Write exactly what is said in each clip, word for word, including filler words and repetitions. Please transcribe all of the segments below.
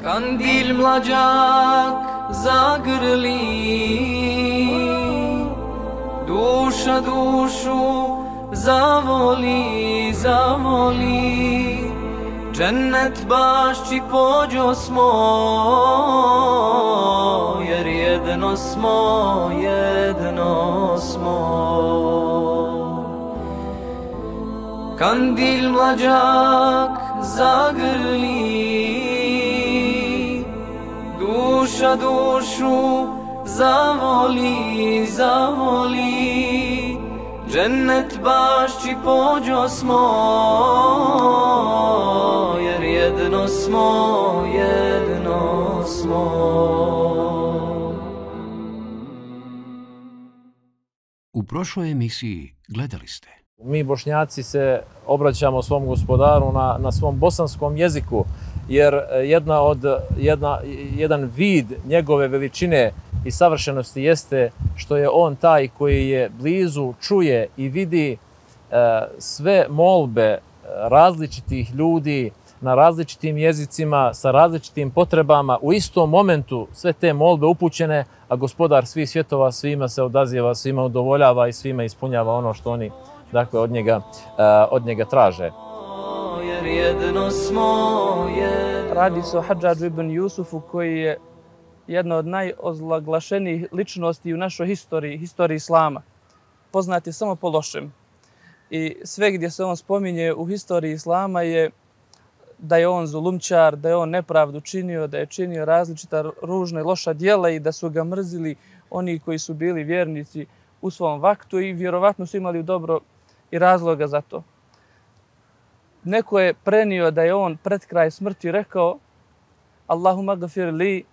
Kandil mlađak zagrli, duša dušu zavoli, zavoli, džennet bašći pođo smo, jer jedno smo, jedno smo. Kandil mlađak zagrli, duša dušu zavoli, zavoli, džennet bašći pođo smo, jer jedno smo, jedno smo. U prošloj emisiji gledali ste. Mi Bošnjaci se obraćamo svom gospodaru na, na svom bosanskom jeziku, jer jedna od, jedna, jedan vid njegove veličine i savršenosti jeste što je on taj koji je blizu, čuje i vidi e, sve molbe različitih ljudi na različitim jezicima, sa različitim potrebama, u istom momentu sve te molbe upućene, a gospodar svih svjetova svima se odaziva, svima udovoljava i svima ispunjava ono što oni dakle od njega, uh, od njega traže. Radi se o Hadžadžu ibn Jusufu koji je jedna od najozlaglašenijih ličnosti u našoj historiji, historiji Islama. Poznat je samo po lošem. I sve gdje se on spominje u historiji Islama je da je on zulumčar, da je on nepravdu činio, da je činio različita ružna i loša djela i da su ga mrzili oni koji su bili vjernici u svom vaktu i vjerovatno su imali dobro i razloga za to. Neko je prenio da je on pred kraj smrti rekao Allahumma gafir li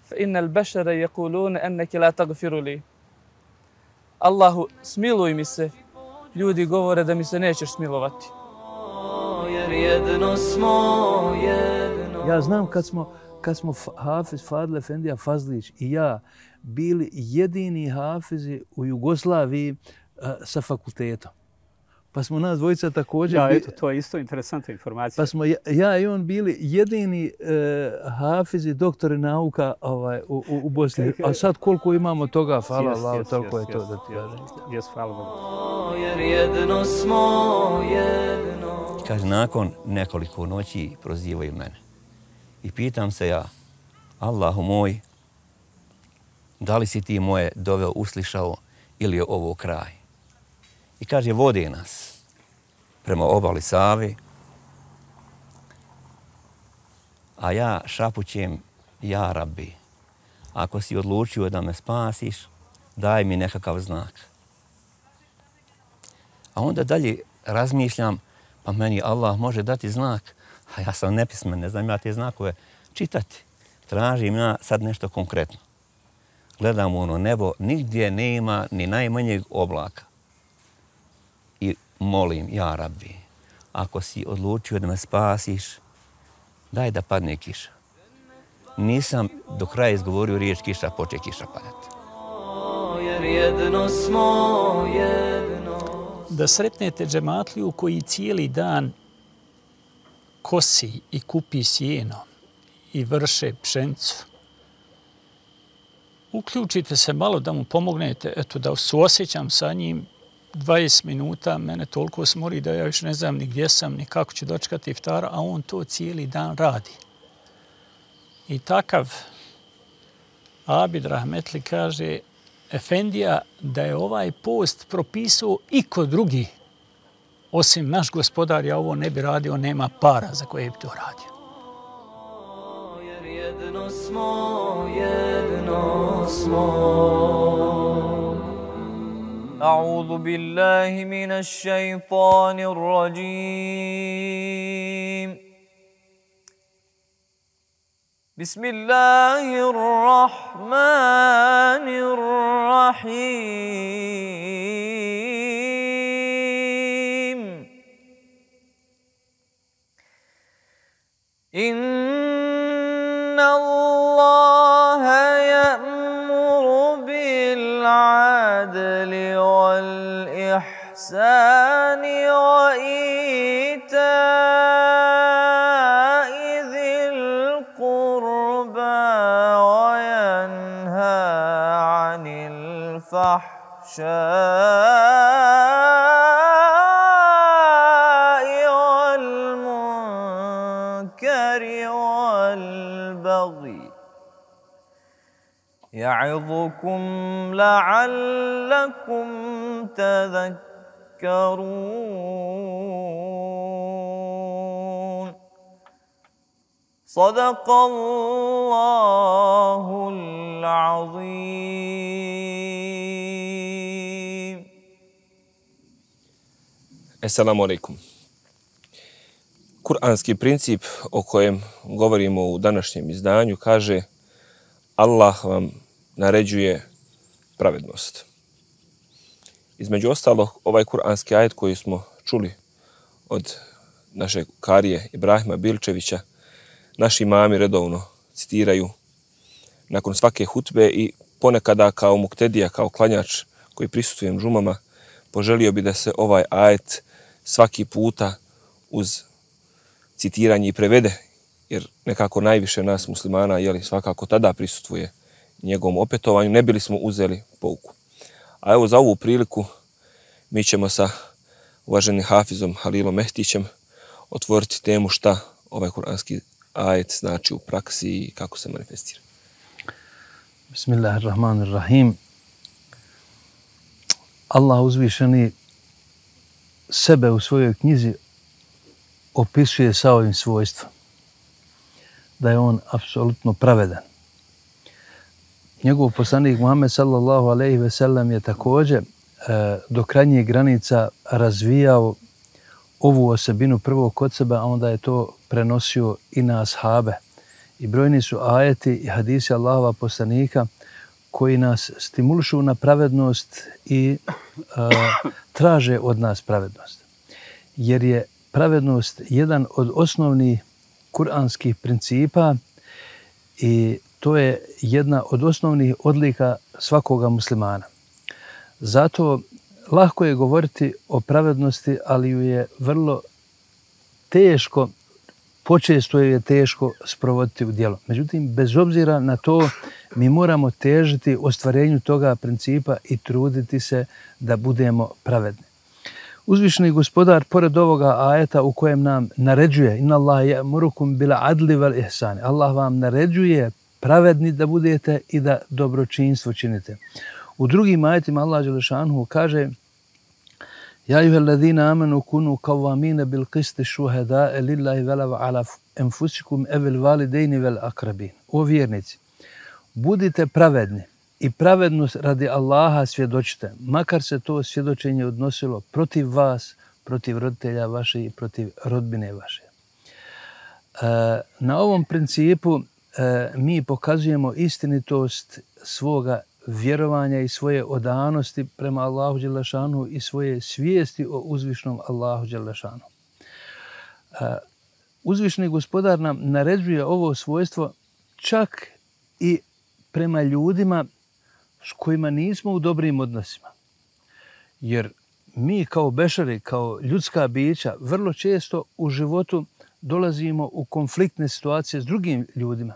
fa innal bešara yaquluna annaka la tagfiru li. Allahu, smiluj mi se, ljudi govore da mi se nećeš smilovati. Jer jedno smo, jedno. Ja znam kad smo, kad smo Hafiz Fadil Efendija Fazlić i ja bili jedini hafizi u Jugoslaviji uh, sa fakultetom. Pa smo nas dvojica također... Ja, eto, to je isto interesantna informacija. Pa smo ja, ja i on bili jedini uh, hafizi, doktori nauka ovaj, u, u, u Bosni. A sad koliko imamo toga, hvala Allah, toliko je to da ti kažem. Jes, hvala Bogu. Jer jedno smo, jedno. Kaže, nakon nekoliko noći prozivaju mene. I pitam se ja, Allahu moj, da li si ti moje dove uslišao ili je ovo kraj? I kaže, vode nas prema obali Save, a ja šapućem, ja Rabbi, ako si odlučio da me spasiš, daj mi nekakav znak. A onda dalje razmišljam, pa meni Allah može dati znak, a ja sam nepismen, ne znam ja te znakove čitati. Tražim ja sad nešto konkretno. Gledam u ono nebo, nigdje nema ni najmanjeg oblaka. I molim, ja Rabbi, ako si odlučio da me spasiš, daj da padne kiša. Nisam do kraja izgovorio riječ kiša, poče kiša padati. Jer jedno smo, jedno. Da sretnete džematliju koji cijeli dan kosi i kupi sjeno i vrše pšenicu. Uključite se malo da mu pomognete, eto da suosjećam sa njim dvadeset minuta, mene toliko smori da ja još ne znam ni gdje sam, ni kako ću dočekati iftara, a on to cijeli dan radi. I takav Abid Rahmetli kaže, Efendija, da je ovaj post propisao i kod drugi, osim naš gospodar, ja ovo ne bi radio, nema para za koje bi to radio. Jer jedno smo, jedno smo. A'udhu billahi minash shaitanir rajim. Bismillahirrahmanirrahim. Inna Allaha ya'muru bil 'adli wal ihsani wa ita'i dhil qurba والمنكر والبغي يعظكم لعلكم تذكرون صدق الله العظيم. Assalamu alaikum. Kur'anski princip o kojem govorimo u današnjem izdanju kaže: Allah vam naređuje pravednost. Između ostalog, ovaj kur'anski ajet koji smo čuli od našeg karije Ibrahima Bilčevića, naši imami redovno citiraju nakon svake hutbe i ponekada kao muktedija, kao klanjač koji prisustujem džumama, poželio bi da se ovaj ajet svaki puta uz citiranje i prevede, jer nekako najviše nas muslimana jeli, svakako tada prisutuje njegovom opetovanju, ne bili smo uzeli pouku. A evo za ovu priliku mi ćemo sa uvaženim hafizom Halilom Mehtićem otvoriti temu šta ovaj kuranski ajet znači u praksi i kako se manifestira. Bismillahirrahmanirrahim. Allah uzvišeni sebe u svojoj knjizi opisuje sa ovim svojstvom, da je on apsolutno pravedan. Njegov poslanik Muhammed sallallahu alejhi ve sellem je također e, do krajnjih granica razvijao ovu osobinu prvo kod sebe, a onda je to prenosio i na ashabe. I brojni su ajeti i hadisi Allahova poslanika koji nas stimulišu na pravednost i e, traže od nas pravednost. Jer je pravednost jedan od osnovnih kuranskih principa i to je jedna od osnovnih odlika svakoga muslimana. Zato lako je govoriti o pravednosti, ali ju je vrlo teško, počesto je teško sprovoditi u djelo. Međutim, bez obzira na to, mi moramo težiti ostvarenju toga principa i truditi se da budemo pravedni. Uzvišeni gospodar, pored ovoga ajeta u kojem nam naređuje Inna Allah ya'murukum bil adli wal ihsani, Allah vam naređuje pravedni da budete i da dobročinstvo činite. U drugim ajetima Allah dželle šanuhu kaže: Ja ayyuhallazina amanu kunu qawwamina bil qisti shuhada'a lillahi wa ala anfusikum awil walidaini wal aqrabin. O vjernici, budite pravedni i pravednost radi Allaha svjedočite, makar se to svjedočenje odnosilo protiv vas, protiv roditelja vaše i protiv rodbine vaše. E, na ovom principu e, mi pokazujemo istinitost svoga vjerovanja i svoje odanosti prema Allahu dželle šanuhu i svoje svijesti o uzvišnom Allahu dželle šanuhu. E, uzvišni gospodar nam naređuje ovo svojstvo čak i prema ljudima s kojima nismo u dobrim odnosima. Jer mi kao bešari, kao ljudska bića, vrlo često u životu dolazimo u konfliktne situacije s drugim ljudima.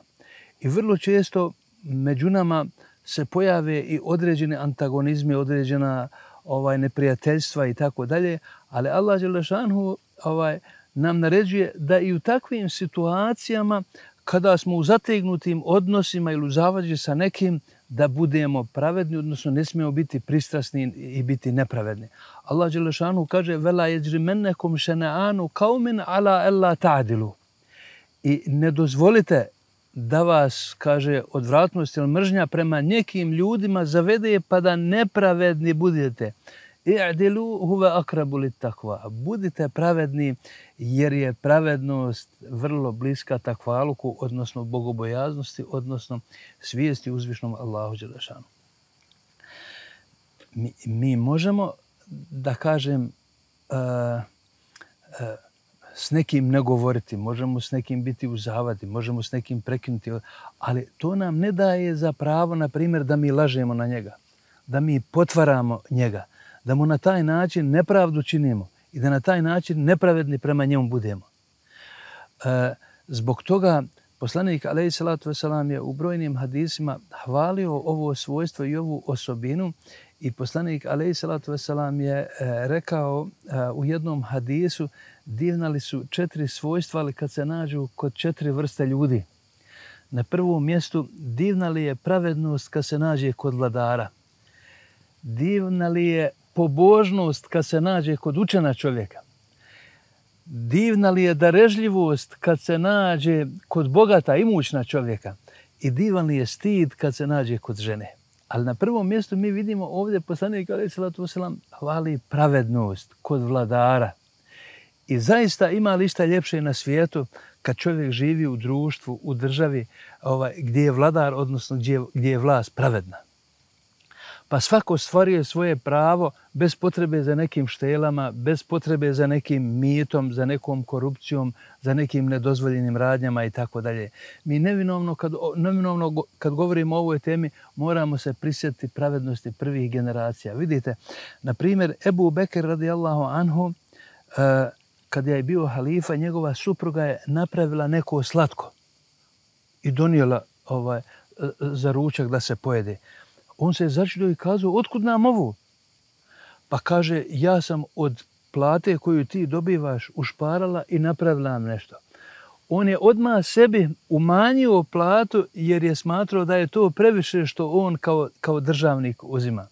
I vrlo često među nama se pojave i određene antagonizme, određena ovaj, neprijateljstva i tako dalje. Ali Allah dželle šanuhu ovaj, nam naređuje da i u takvim situacijama kada smo u zategnutim odnosima ili u zavađi sa nekim, da budemo pravedni, odnosno ne smijemo biti pristrasni i biti nepravedni. Allah dželle šanuhu kaže: "Vela yajrimennakum shana'anu qaumin ala alla ta'dilu." I ne dozvolite da vas, kaže, odvratnost ili mržnja prema nekim ljudima zavede pa da nepravedni budete. I'dilu huwa aqrabu lit-taqwa. Budite pravedni jer je pravednost vrlo bliska takvaluku, odnosno bogobojaznosti, odnosno svijesti uzvišnom Allahu dželle šanuhu. Mi, mi možemo, da kažem, uh, uh, s nekim ne govoriti, možemo s nekim biti u zavadi, možemo s nekim prekinuti, ali to nam ne daje za pravo, na primjer, da mi lažemo na njega, da mi potvaramo njega, da mu na taj način nepravdu činimo i da na taj način nepravedni prema njemu budemo. E, zbog toga poslanik alejhi salatu vesselam je u brojnim hadisima hvalio ovo svojstvo i ovu osobinu I poslanik alejhi salatu vesselam je e, rekao e, u jednom hadisu, divna li su četiri svojstva, ali kad se nađu kod četiri vrste ljudi. Na prvom mjestu, divna li je pravednost kad se nađe kod vladara. Divna li je pobožnost kad se nađe kod učena čovjeka. Divna li je darežljivost kad se nađe kod bogata, imućna čovjeka. I divan li je stid kad se nađe kod žene. Ali na prvom mjestu mi vidimo ovdje poslanik alejhi salatu vesselam hvali pravednost kod vladara. I zaista ima li šta ljepše na svijetu kad čovjek živi u društvu, u državi ovaj, gdje je vladar, odnosno gdje, gdje je vlast pravedna. Pa svako stvaruje svoje pravo bez potrebe za nekim štelama, bez potrebe za nekim mitom, za nekom korupcijom, za nekim nedozvoljenim radnjama i tako dalje. Mi nevinovno kad, nevinovno kad govorimo o ovoj temi moramo se prisjetiti pravednosti prvih generacija. Vidite, na primjer, Ebu Bekr radijallahu anhu, uh, kad je bio halifa, njegova supruga je napravila neko slatko i donijela ovaj, za ručak da se pojede. On se začudio i kazao, otkud nam ovo? Pa kaže, ja sam od plate koju ti dobivaš ušparala i napravila nam nešto. On je odmah sebi umanjio platu jer je smatrao da je to previše što on kao, kao državnik uzima.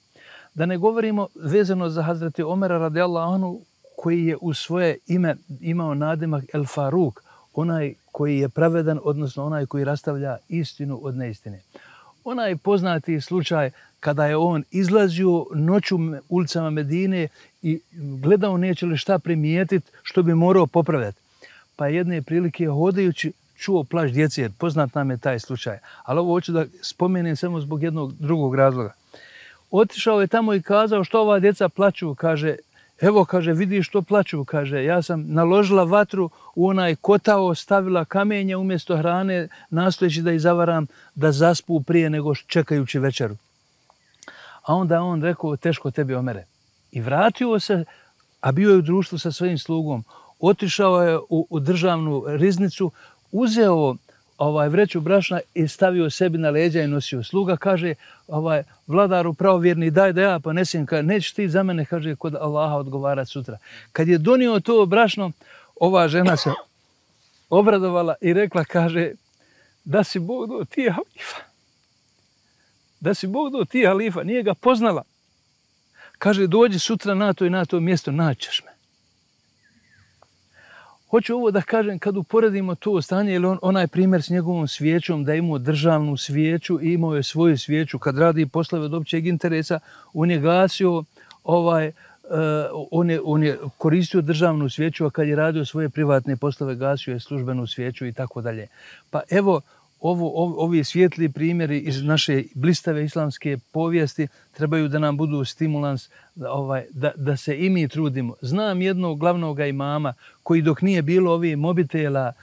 Da ne govorimo vezano za Hazreti Omera radijallahu anhu, koji je u svoje ime imao nadimak El Faruk, onaj koji je pravedan, odnosno onaj koji rastavlja istinu od neistine. Onaj poznati slučaj kada je on izlazio noću ulicama Medine i gledao neće li šta primijetiti što bi morao popravljati. Pa jedne prilike hodajući čuo plač djece, jer poznat nam je taj slučaj. Ali ovo hoću da spomenem samo zbog jednog drugog razloga. Otišao je tamo i kazao što ova djeca plaču, kaže, evo, kaže, vidiš što plaču, kaže, ja sam naložila vatru u onaj kotao, stavila kamenje umjesto hrane, nastojeći da ih zavaram da zaspu prije nego čekajući večeru. A onda on rekao, teško tebi, Omere. I vratio se, a bio je u društvu sa svojim slugom. Otišao je u, u državnu riznicu, uzeo ovaj vreću brašna i stavio sebi na leđa i nosio. Sluga kaže, ovaj, vladaru pravovjerni, daj da ja ponesem, kaže, nećeš ti za mene, kaže, kod Allaha odgovarati sutra. Kad je donio to brašno, ova žena se obradovala i rekla, kaže, da si Bog do ti halifa. Da si Bog do ti halifa, nije ga poznala. Kaže, dođi sutra na to i na to mjesto, naćeš me. Hoću ovo da kažem, kad uporedimo to stanje, ili on, onaj primjer s njegovom svijećom, da je imao državnu svijeću i imao je svoju svijeću, kad radi poslove od općeg interesa, on je gasio, ovaj, uh, on, je, on je koristio državnu svijeću, a kad je radio svoje privatne poslove, gasio je službenu svijeću i tako dalje. Pa evo, ovo, ov, ovi svijetli primjeri iz naše blistave islamske povijesti trebaju da nam budu stimulans da, ovaj, da, da se i mi trudimo. Znam jednog glavnog imama koji dok nije bilo ovih mobitela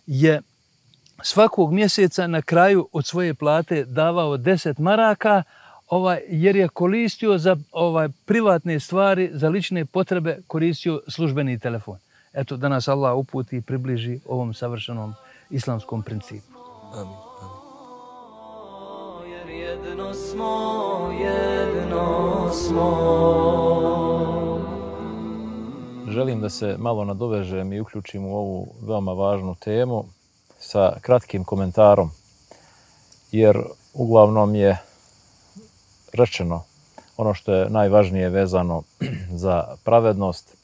je svakog mjeseca na kraju od svoje plate davao deset maraka ovaj, jer je koristio za ovaj, privatne stvari, za lične potrebe koristio službeni telefon. Eto, da nas Allah uputi i približi ovom savršenom islamskom principu. Amin, amin. Jer jedno smo, jedno smo. Želim da se malo nadovežem i uključim u ovu veoma važnu temu sa kratkim komentarom, jer uglavnom je rečeno ono što je najvažnije vezano za pravednost.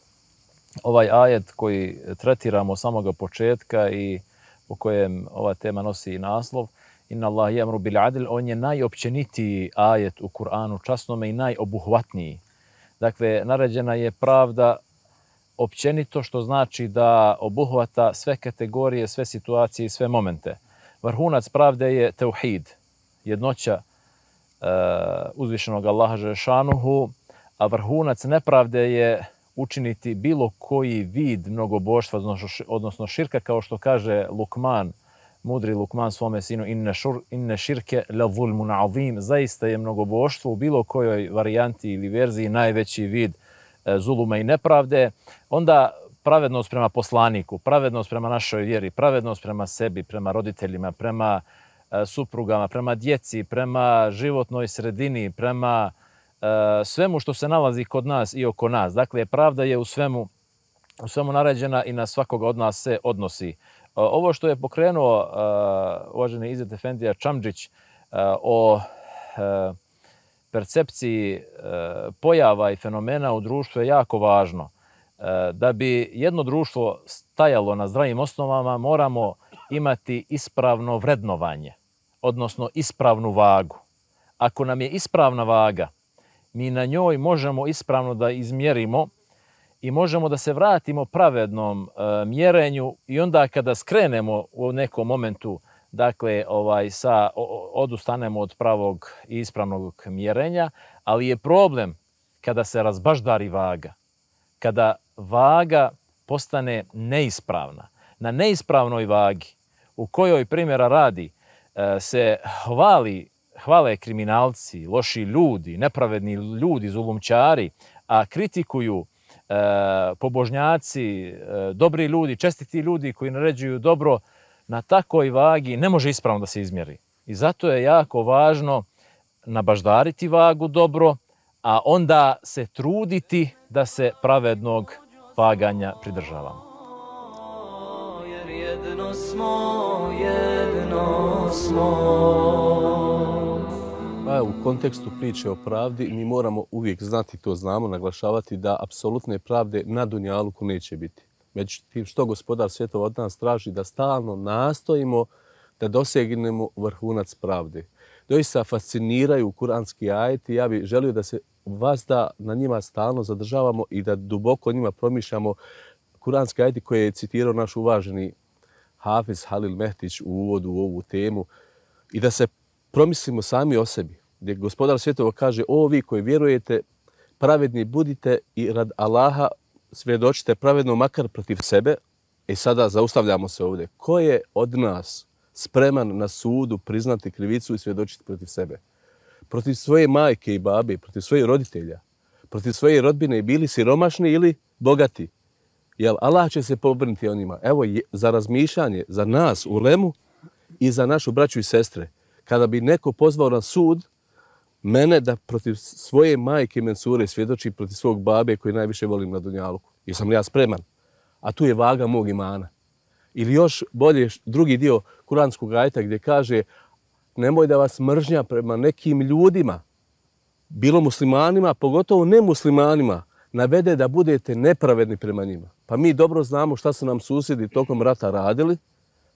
Ovaj ajet koji tretiramo od samoga početka i u kojem ova tema nosi i naslov, Inna Allah yamru bil adl, on je najopćenitiji ajet u Kur'anu časnome i najobuhvatniji. Dakle, naređena je pravda općenito, što znači da obuhvata sve kategorije, sve situacije i sve momente. Vrhunac pravde je tauhid, jednoća uh, uzvišenog Allaha Želešanuhu, a vrhunac nepravde je učiniti bilo koji vid mnogoboštva, odnosno širka, kao što kaže Lukman, mudri Lukman svome sinu, inne, šur, inne širke la zulmun azim, zaista je mnogoboštvo u bilo kojoj varijanti ili verziji najveći vid e, zuluma i nepravde. Onda pravednost prema poslaniku, pravednost prema našoj vjeri, pravednost prema sebi, prema roditeljima, prema e, suprugama, prema djeci, prema životnoj sredini, prema svemu što se nalazi kod nas i oko nas. Dakle, pravda je u svemu, u svemu naređena i na svakoga od nas se odnosi. Ovo što je pokrenuo uvaženi Izet Efendija Čamdžić o percepciji pojava i fenomena u društvu je jako važno. Da bi jedno društvo stajalo na zdravim osnovama, moramo imati ispravno vrednovanje, odnosno ispravnu vagu. Ako nam je ispravna vaga, mi na njoj možemo ispravno da izmjerimo i možemo da se vratimo pravednom e, mjerenju i onda kada skrenemo u nekom momentu, dakle, ovaj, sa, o, odustanemo od pravog i ispravnog mjerenja, ali je problem kada se razbaždari vaga, kada vaga postane neispravna. Na neispravnoj vagi, u kojoj primjera radi, e, se hvali, hvale kriminalci, loši ljudi, nepravedni ljudi, zulumčari, a kritikuju E, pobožnjaci, e, dobri ljudi, čestiti ljudi koji naređuju dobro, na takoj vagi ne može ispravno da se izmjeri. I zato je jako važno nabaždariti vagu dobro, a onda se truditi da se pravednog vaganja pridržavamo. Jer jedno smo, jedno smo. Pa u kontekstu priče o pravdi mi moramo uvijek znati, to znamo, naglašavati da apsolutne pravde na dunjaluku neće biti. Međutim, što Gospodar svjetova od nas traži da stalno nastojimo da dosegnemo vrhunac pravde. Doista fasciniraju kuranski ajeti. Ja bih želio da se vas da na njima stalno zadržavamo i da duboko njima promišljamo kuranski ajeti koje je citirao naš uvaženi Hafiz Halil Mehtić u uvodu u ovu temu i da se promislimo sami o sebi, gdje Gospodar svjetova kaže: o vi koji vjerujete, pravedni budite i rad Allaha svjedočite pravedno makar protiv sebe. I sada zaustavljamo se ovdje. Ko je od nas spreman na sudu priznati krivicu i svjedočiti protiv sebe? Protiv svoje majke i babe, protiv svojih roditelja, protiv svoje rodbine, bili siromašni ili bogati. Jel Allah će se pobrinuti o njima? Evo, za razmišljanje, za nas u Lemu i za našu braću i sestre. Kada bi neko pozvao na sud mene da protiv svoje majke Mensure svjedoči protiv svog babe koji najviše volim na dunjaluku, jesam li ja spreman? A tu je vaga mog imana. Ili još bolje drugi dio kuranskog ajeta gdje kaže: nemoj da vas mržnja prema nekim ljudima, bilo muslimanima, pogotovo nemuslimanima, navede da budete nepravedni prema njima. Pa mi dobro znamo šta su nam susjedi tokom rata radili,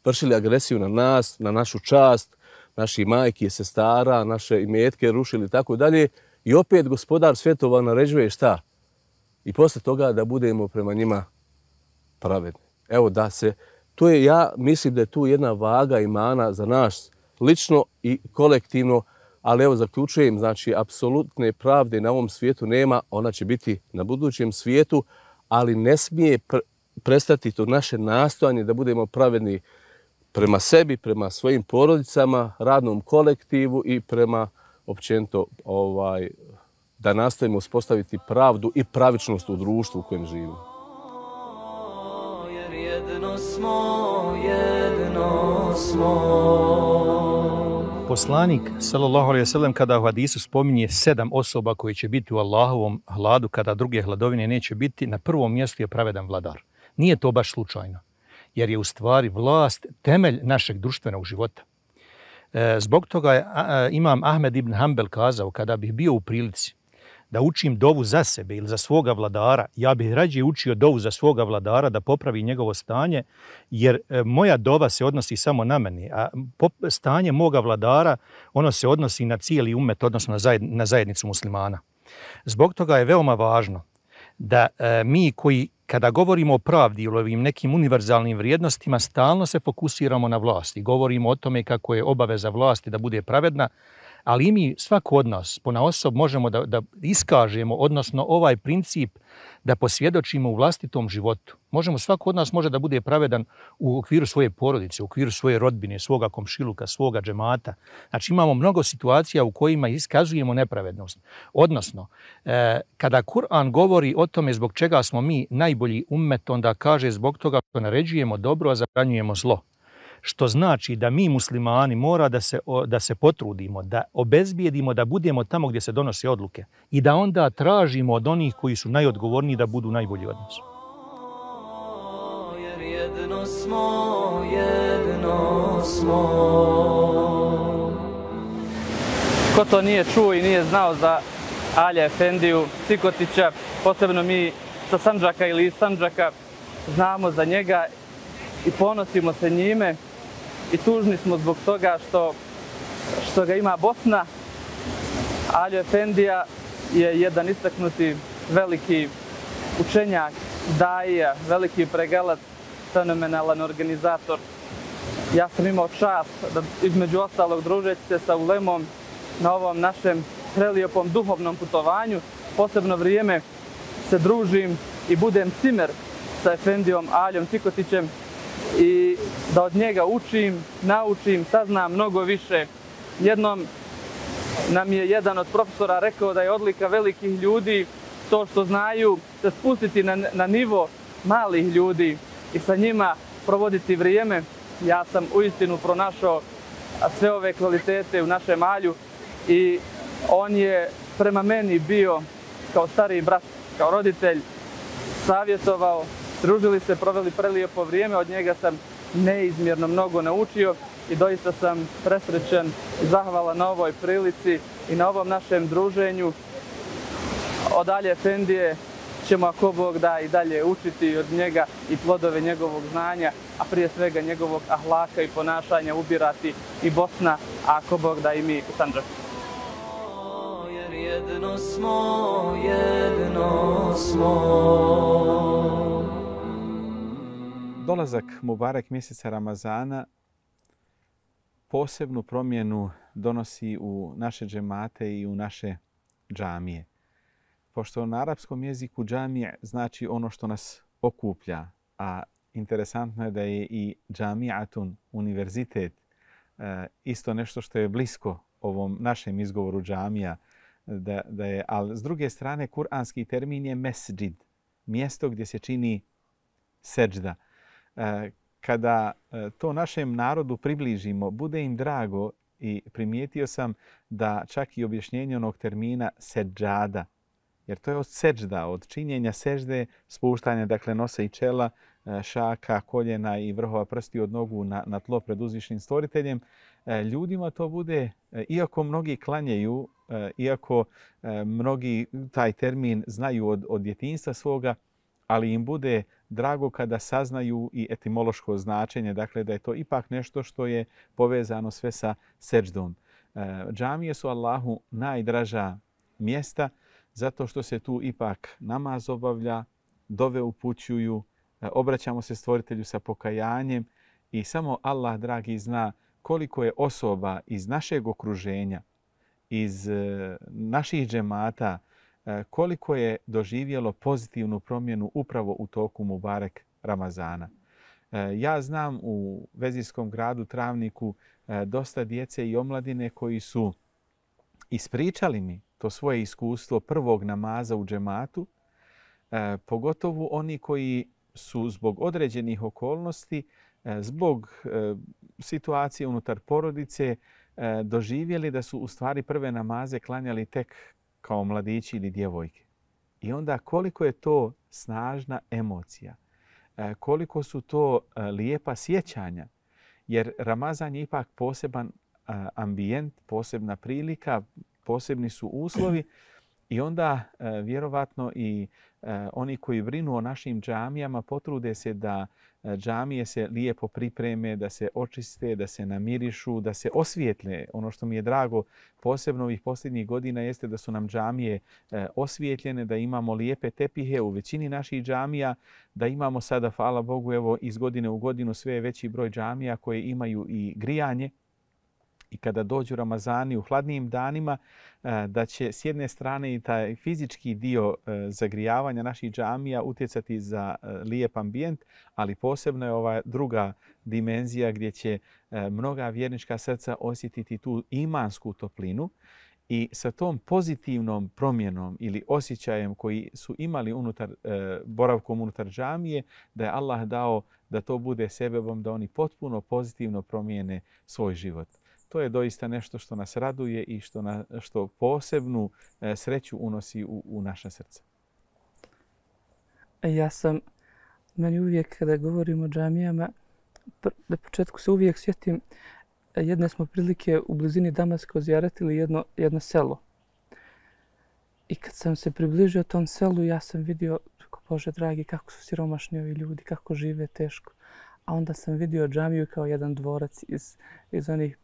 vršili agresiju na nas, na našu čast, naši majki, sestara, naše imetke rušili i tako dalje. I opet Gospodar svjetova naređuje šta? I posle toga da budemo prema njima pravedni. Evo da se, to je, ja mislim da je tu jedna vaga imana za nas lično i kolektivno, ali evo zaključujem, znači apsolutne pravde na ovom svijetu nema, ona će biti na budućem svijetu, ali ne smije pr prestati to naše nastojanje da budemo pravedni prema sebi, prema svojim porodicama, radnom kolektivu i prema općenito ovaj, da nastavimo uspostaviti pravdu i pravičnost u društvu u kojem živimo. Jer jedno smo, jedno smo. Poslanik, sallallahu alejhi ve sellem, kada u hadisu spominje sedam osoba koji će biti u Allahovom hladu kada druge hladovine neće biti, na prvom mjestu je pravedan vladar. Nije to baš slučajno, jer je u stvari vlast temelj našeg društvenog života. E, zbog toga je a, imam Ahmed ibn Hanbel kazao: kada bih bio u prilici da učim dovu za sebe ili za svoga vladara, ja bih rađe učio dovu za svoga vladara da popravi njegovo stanje, jer e, moja dova se odnosi samo na mene, a pop, stanje moga vladara ono se odnosi na cijeli umet, odnosno na, zajed, na zajednicu muslimana. Zbog toga je veoma važno da e, mi koji kada govorimo o pravdi ili ovim nekim univerzalnim vrijednostima, stalno se fokusiramo na vlast i govorimo o tome kako je obaveza vlasti da bude pravedna, ali i mi, svako od nas, ponaosob, možemo da, da iskažemo, odnosno ovaj princip da posvjedočimo u vlastitom životu. Možemo, svako od nas može da bude pravedan u okviru svoje porodice, u okviru svoje rodbine, svoga komšiluka, svoga džemata. Znači imamo mnogo situacija u kojima iskazujemo nepravednost. Odnosno, eh, kada Kur'an govori o tome zbog čega smo mi najbolji ummet, onda kaže zbog toga što naređujemo dobro, a zabranjujemo zlo. što znači da mi muslimani mora da se, da se potrudimo, da obezbijedimo da budemo tamo gdje se donose odluke i da onda tražimo od onih koji su najodgovorniji da budu najbolji od nas. Jer jedno smo, jedno smo. Ko to nije čuo i nije znao za Alija Efendiju Cikotića, posebno mi sa Sandžaka ili iz Sandžaka, znamo za njega i ponosimo se njime i tužni smo zbog toga što, što ga ima Bosna. Alija Efendija je jedan istaknuti veliki učenjak, daija, veliki pregalac, fenomenalan organizator. Ja sam imao čast da između ostalog družeći se sa ulemom na ovom našem prelijepom duhovnom putovanju. Posebno vrijeme se družim i budem cimer sa Efendijom Alijom Cikotićem i da od njega učim, naučim, saznam mnogo više. Jednom nam je jedan od profesora rekao da je odlika velikih ljudi to što znaju se spustiti na, na nivo malih ljudi i sa njima provoditi vrijeme. Ja sam uistinu pronašao sve ove kvalitete u našem Alju i on je prema meni bio kao stariji brat, kao roditelj, savjetovao, družili se, proveli prelijepo vrijeme, od njega sam neizmjerno mnogo naučio i doista sam presrećan i zahvalan na ovoj prilici i na ovom našem druženju. Od Alije Efendije ćemo, ako Bog da, i dalje učiti od njega i plodove njegovog znanja, a prije svega njegovog ahlaka i ponašanja ubirati i Bosna, a ako Bog da, i mi u Sandžaku. Jer jedno smo, jedno smo. Dolazak Mubarek mjeseca Ramazana posebnu promjenu donosi u naše džemate i u naše džamije. Pošto na arapskom jeziku džamije znači ono što nas okuplja, a interesantno je da je i džamiatun, univerzitet, isto nešto što je blisko ovom našem izgovoru džamija, da, da je, ali s druge strane kuranski termin je mesdžid, mjesto gdje se čini seđda. Kada to našem narodu približimo, bude im drago i primijetio sam da čak i objašnjenje onog termina seđada, jer to je od seđda, od činjenja sežde, spuštanja, dakle, nosa i čela, šaka, koljena i vrhova prsti od nogu na, na tlo pred uzvišnim stvoriteljem. Ljudima to bude, iako mnogi klanjaju, iako mnogi taj termin znaju od, od djetinjstva svoga, ali im bude drago kada saznaju i etimološko značenje, dakle da je to ipak nešto što je povezano sve sa seđdom. Džamije su Allahu najdraža mjesta, zato što se tu ipak namaz obavlja, dove upućuju, obraćamo se stvoritelju sa pokajanjem i samo Allah, dragi, zna koliko je osoba iz našeg okruženja, iz naših džemata, koliko je doživjelo pozitivnu promjenu upravo u toku Mubarek Ramazana. Ja znam u vezirskom gradu Travniku dosta djece i omladine koji su ispričali mi to svoje iskustvo prvog namaza u džematu, pogotovo oni koji su zbog određenih okolnosti, zbog situacije unutar porodice, doživjeli da su u stvari prve namaze klanjali tek kao mladići ili djevojke. I onda koliko je to snažna emocija, koliko su to lijepa sjećanja, jer Ramazan je ipak poseban ambijent, posebna prilika, posebni su uslovi i onda vjerovatno i oni koji brinu o našim džamijama potrude se da džamije se lijepo pripreme, da se očiste, da se namirišu, da se osvijetle. Ono što mi je drago posebno ovih posljednjih godina jeste da su nam džamije osvijetljene, da imamo lijepe tepihe u većini naših džamija, da imamo sada, hvala Bogu, evo iz godine u godinu sve veći broj džamija koje imaju i grijanje. I kada dođu Ramazani u hladnijim danima, da će s jedne strane i taj fizički dio zagrijavanja naših džamija utjecati za lijep ambijent, ali posebno je ova druga dimenzija gdje će mnoga vjernička srca osjetiti tu imansku toplinu I sa tom pozitivnom promjenom ili osjećajem koji su imali unutar, e, boravkom unutar džamije, da je Allah dao da to bude sebebom da oni potpuno pozitivno promijene svoj život. To je doista nešto što nas raduje i što, na, što posebnu e, sreću unosi u, u naša srca. Ja sam, meni uvijek kada govorimo o džamijama, na početku se uvijek sjetim, jedne smo prilike u blizini Damaska ozjaratili jedno, jedno selo. I kad sam se približio tom selu, ja sam vidio, Bože dragi, kako su siromašni ovi ljudi, kako žive teško. A onda sam vidio džamiju kao jedan dvorac iz, iz onih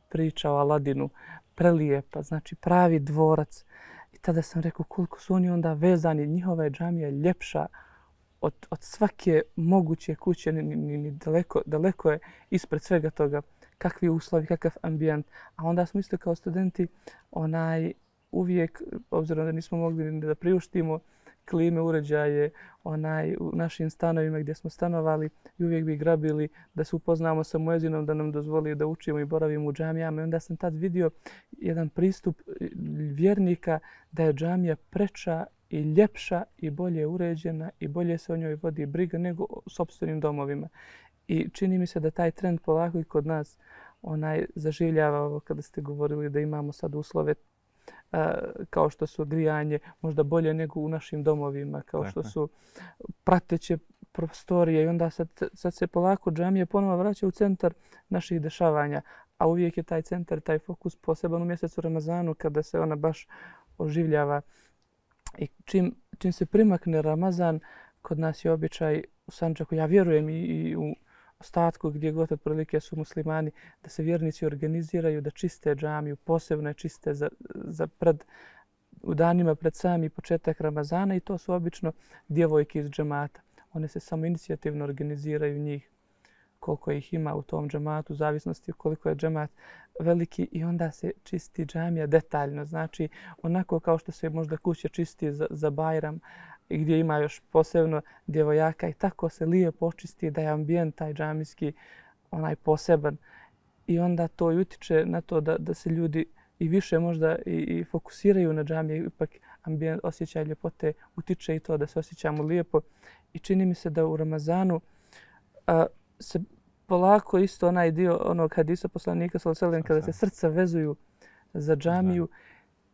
priča o Aladinu. Prelijepa, znači pravi dvorac. I tada sam rekao koliko su oni onda vezani, njihova je džamija ljepša od, od svake moguće kuće, ni, ni, ni daleko, daleko je ispred svega toga. Kakvi uslovi, kakav ambijent. A onda smo isto kao studenti onaj uvijek, obzirom da nismo mogli da priuštimo klime, uređaje onaj, u našim stanovima gdje smo stanovali i uvijek bi grabili da se upoznamo sa muezinom, da nam dozvoli da učimo i boravimo u džamijama. I onda sam tad vidio jedan pristup vjernika da je džamija preča i ljepša i bolje uređena i bolje se o njoj vodi briga nego u sopstvenim domovima. I čini mi se da taj trend polako i kod nas onaj zaživljava ovo kada ste govorili da imamo sad uslove a, kao što su grijanje možda bolje nego u našim domovima, kao što su prateće prostorije i onda sad, sad se polako džamije ponovo vraća u centar naših dešavanja, a uvijek je taj centar, taj fokus poseban u mjesecu Ramazanu kada se ona baš oživljava. I čim, čim se primakne Ramazan, kod nas je običaj u Sandžaku, ja vjerujem i, i u ostatku gdje god otprilike su muslimani, da se vjernici organiziraju, da čiste džamiju, posebno je čiste za, za pred, u danima pred sami početak Ramazana i to su obično djevojke iz džemata. One se samo inicijativno organiziraju njih koliko ih ima u tom džematu, u zavisnosti koliko je džemat veliki i onda se čisti džamija detaljno. Znači onako kao što se možda kuća čisti za, za Bajram, i gdje ima još posebno djevojaka i tako se lijepo očisti da je ambijent taj džamijski onaj poseban. I onda to i utiče na to da, da se ljudi i više možda i, i fokusiraju na džamije, ipak ambijent, osjećaj ljepote utiče i to da se osjećamo lijepo. I čini mi se da u Ramazanu a, se polako isto onaj dio onog hadisa poslanika sallallahu alejhi ve sellem kada se srca vezuju za džamiju,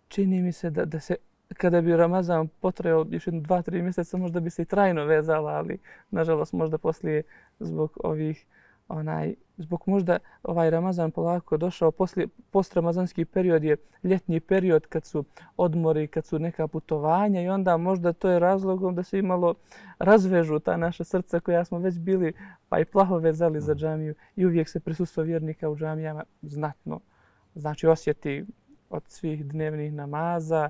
čini mi se da, da se kada bi Ramazan potrajao još jedno dva, tri mjeseca, možda bi se i trajno vezala, ali nažalost možda poslije zbog ovih, onaj, zbog možda ovaj Ramazan polako došao, poslije, postramazanski period je ljetni period kad su odmori, kad su neka putovanja i onda možda to je razlogom da se imalo razvežu ta naša srca koja smo već bili pa i plaho vezali za džamiju i uvijek se prisustvo vjernika u džamijama znatno, znači osjeti od svih dnevnih namaza,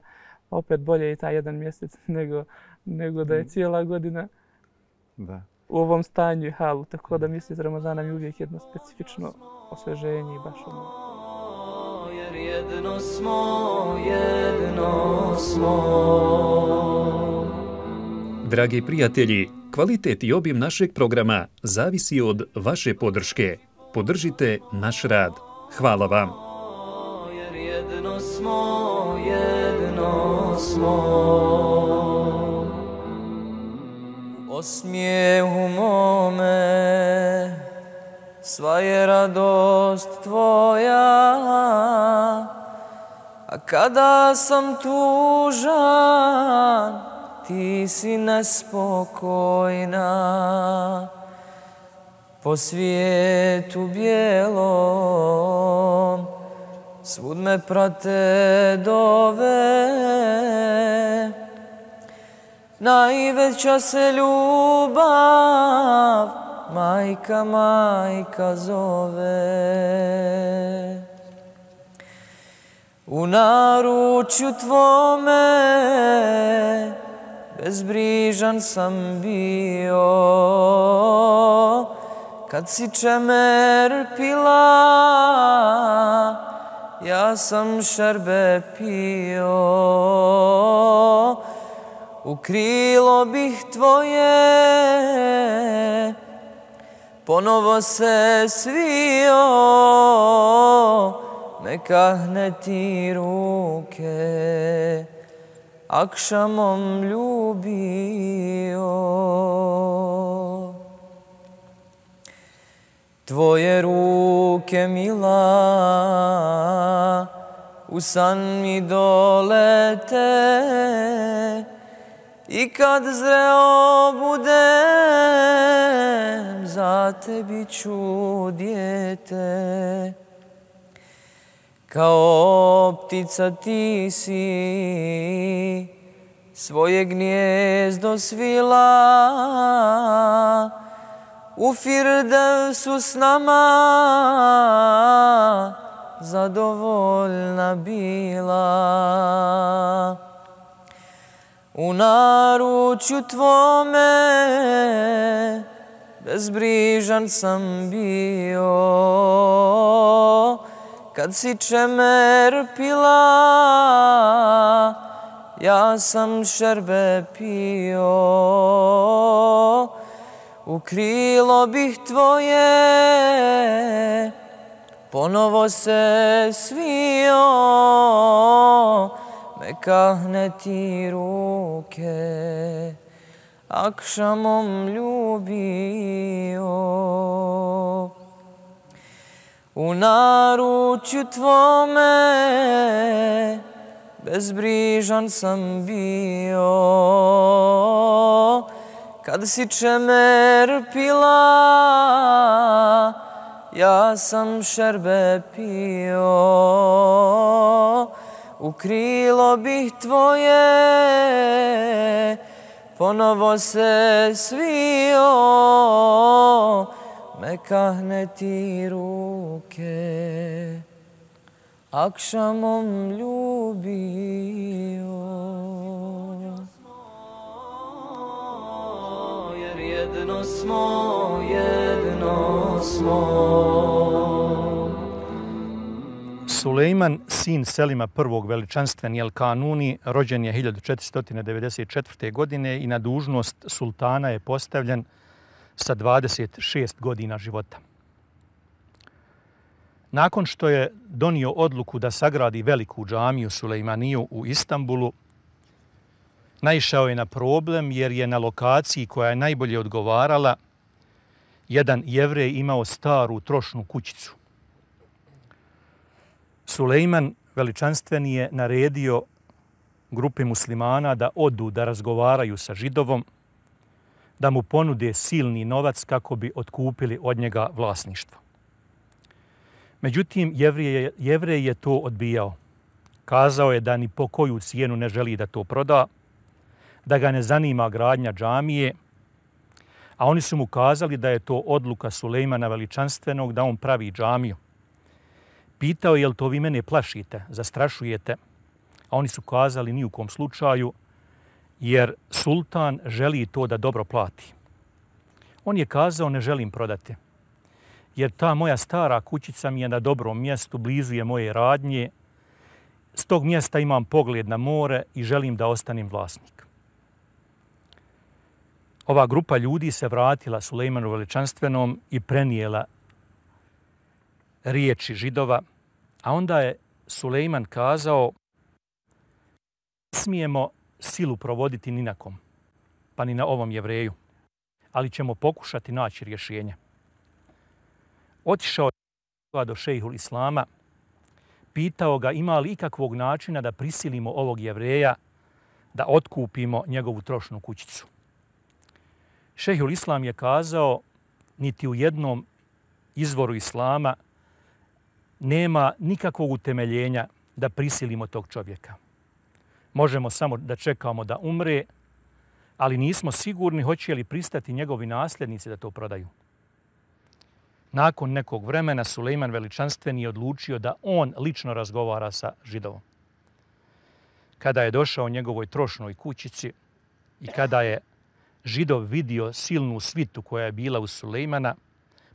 opet bolje i taj jedan mjesec nego, nego da je cijela godina da. U ovom stanju i halu. Tako da mjesec Ramazana mi uvijek jedno specifično osveženje i baš ono. Jer jedno smo, jedno smo. Dragi prijatelji, kvalitet i obim našeg programa zavisi od vaše podrške. Podržite naš rad. Hvala vam. Jer jedno smo, jedno smo. U osmijehu mome sva je radost tvoja, a kada sam tužan ti si nespokojna. Po svijetu bijelom svud me prate dove, najveća se ljubav majka, majka zove. U naručju tvome bezbrižan sam bio, kad si čemer pila, ja sam šerbe pio. U krilo bih tvoje ponovo se svio, me kahne ti ruke, akšamom ljubio. Tvoje ruke mila u san mi dolete i kad zreo budem za tebi ću dijete. Kao ptica ti si svoje gnijezdo svila, u Firdevsu s nama zadovoljna bila. U naručju tvome bezbrižan sam bio, kad si čemer pila, ja sam šerbe pio. U krilo bih tvoje ponovo se svio, me kahne ti ruke, akšamom ljubio. U naručju tvome bezbrižan sam bio, kad si čemer pila, ja sam šerbe pio. U krilo bih tvoje ponovo se svio, me kahne ti ruke, akšamom ljubio. Jer jedno smo, jedno smo. Sulejman, sin Selima prvog veličanstveni El Kanuni, rođen je hiljadu četiristo devedeset četvrte. godine i na dužnost sultana je postavljen sa dvadeset šest godina života. Nakon što je donio odluku da sagradi veliku džamiju Sulejmaniju u Istanbulu, naišao je na problem jer je na lokaciji koja je najbolje odgovarala jedan Jevrej imao staru trošnu kućicu. Sulejman veličanstveni je naredio grupi muslimana da odu da razgovaraju sa Židovom, da mu ponude silni novac kako bi otkupili od njega vlasništvo. Međutim, Jevrej je, Jevrej je to odbijao. Kazao je da ni po koju cijenu ne želi da to proda, da ga ne zanima gradnja džamije, a oni su mu kazali da je to odluka Sulejmana veličanstvenog da on pravi džamiju. Pitao je, jel to vi mene plašite, zastrašujete? A oni su kazali ni u kom slučaju, jer sultan želi to da dobro plati. On je kazao, ne želim prodati, jer ta moja stara kućica mi je na dobrom mjestu, blizu je moje radnje, s tog mjesta imam pogled na more i želim da ostanem vlasnik. Ova grupa ljudi se vratila Sulejmanu veličanstvenom i prenijela riječi Židova, a onda je Sulejman kazao, ne smijemo silu provoditi ni na kom, pa ni na ovom Jevreju, ali ćemo pokušati naći rješenje. Otišao je do šejhul Islama, pitao ga ima li ikakvog načina da prisilimo ovog Jevreja da otkupimo njegovu trošnu kućicu. Šejhul Islam je kazao, niti u jednom izvoru Islama nema nikakvog utemeljenja da prisilimo tog čovjeka. Možemo samo da čekamo da umre, ali nismo sigurni hoće li pristati njegovi nasljednici da to prodaju. Nakon nekog vremena Sulejman veličanstveni je odlučio da on lično razgovara sa Židovom. Kada je došao njegovoj trošnoj kućici i kada je Židov vidio silnu svitu koja je bila u Sulejmana,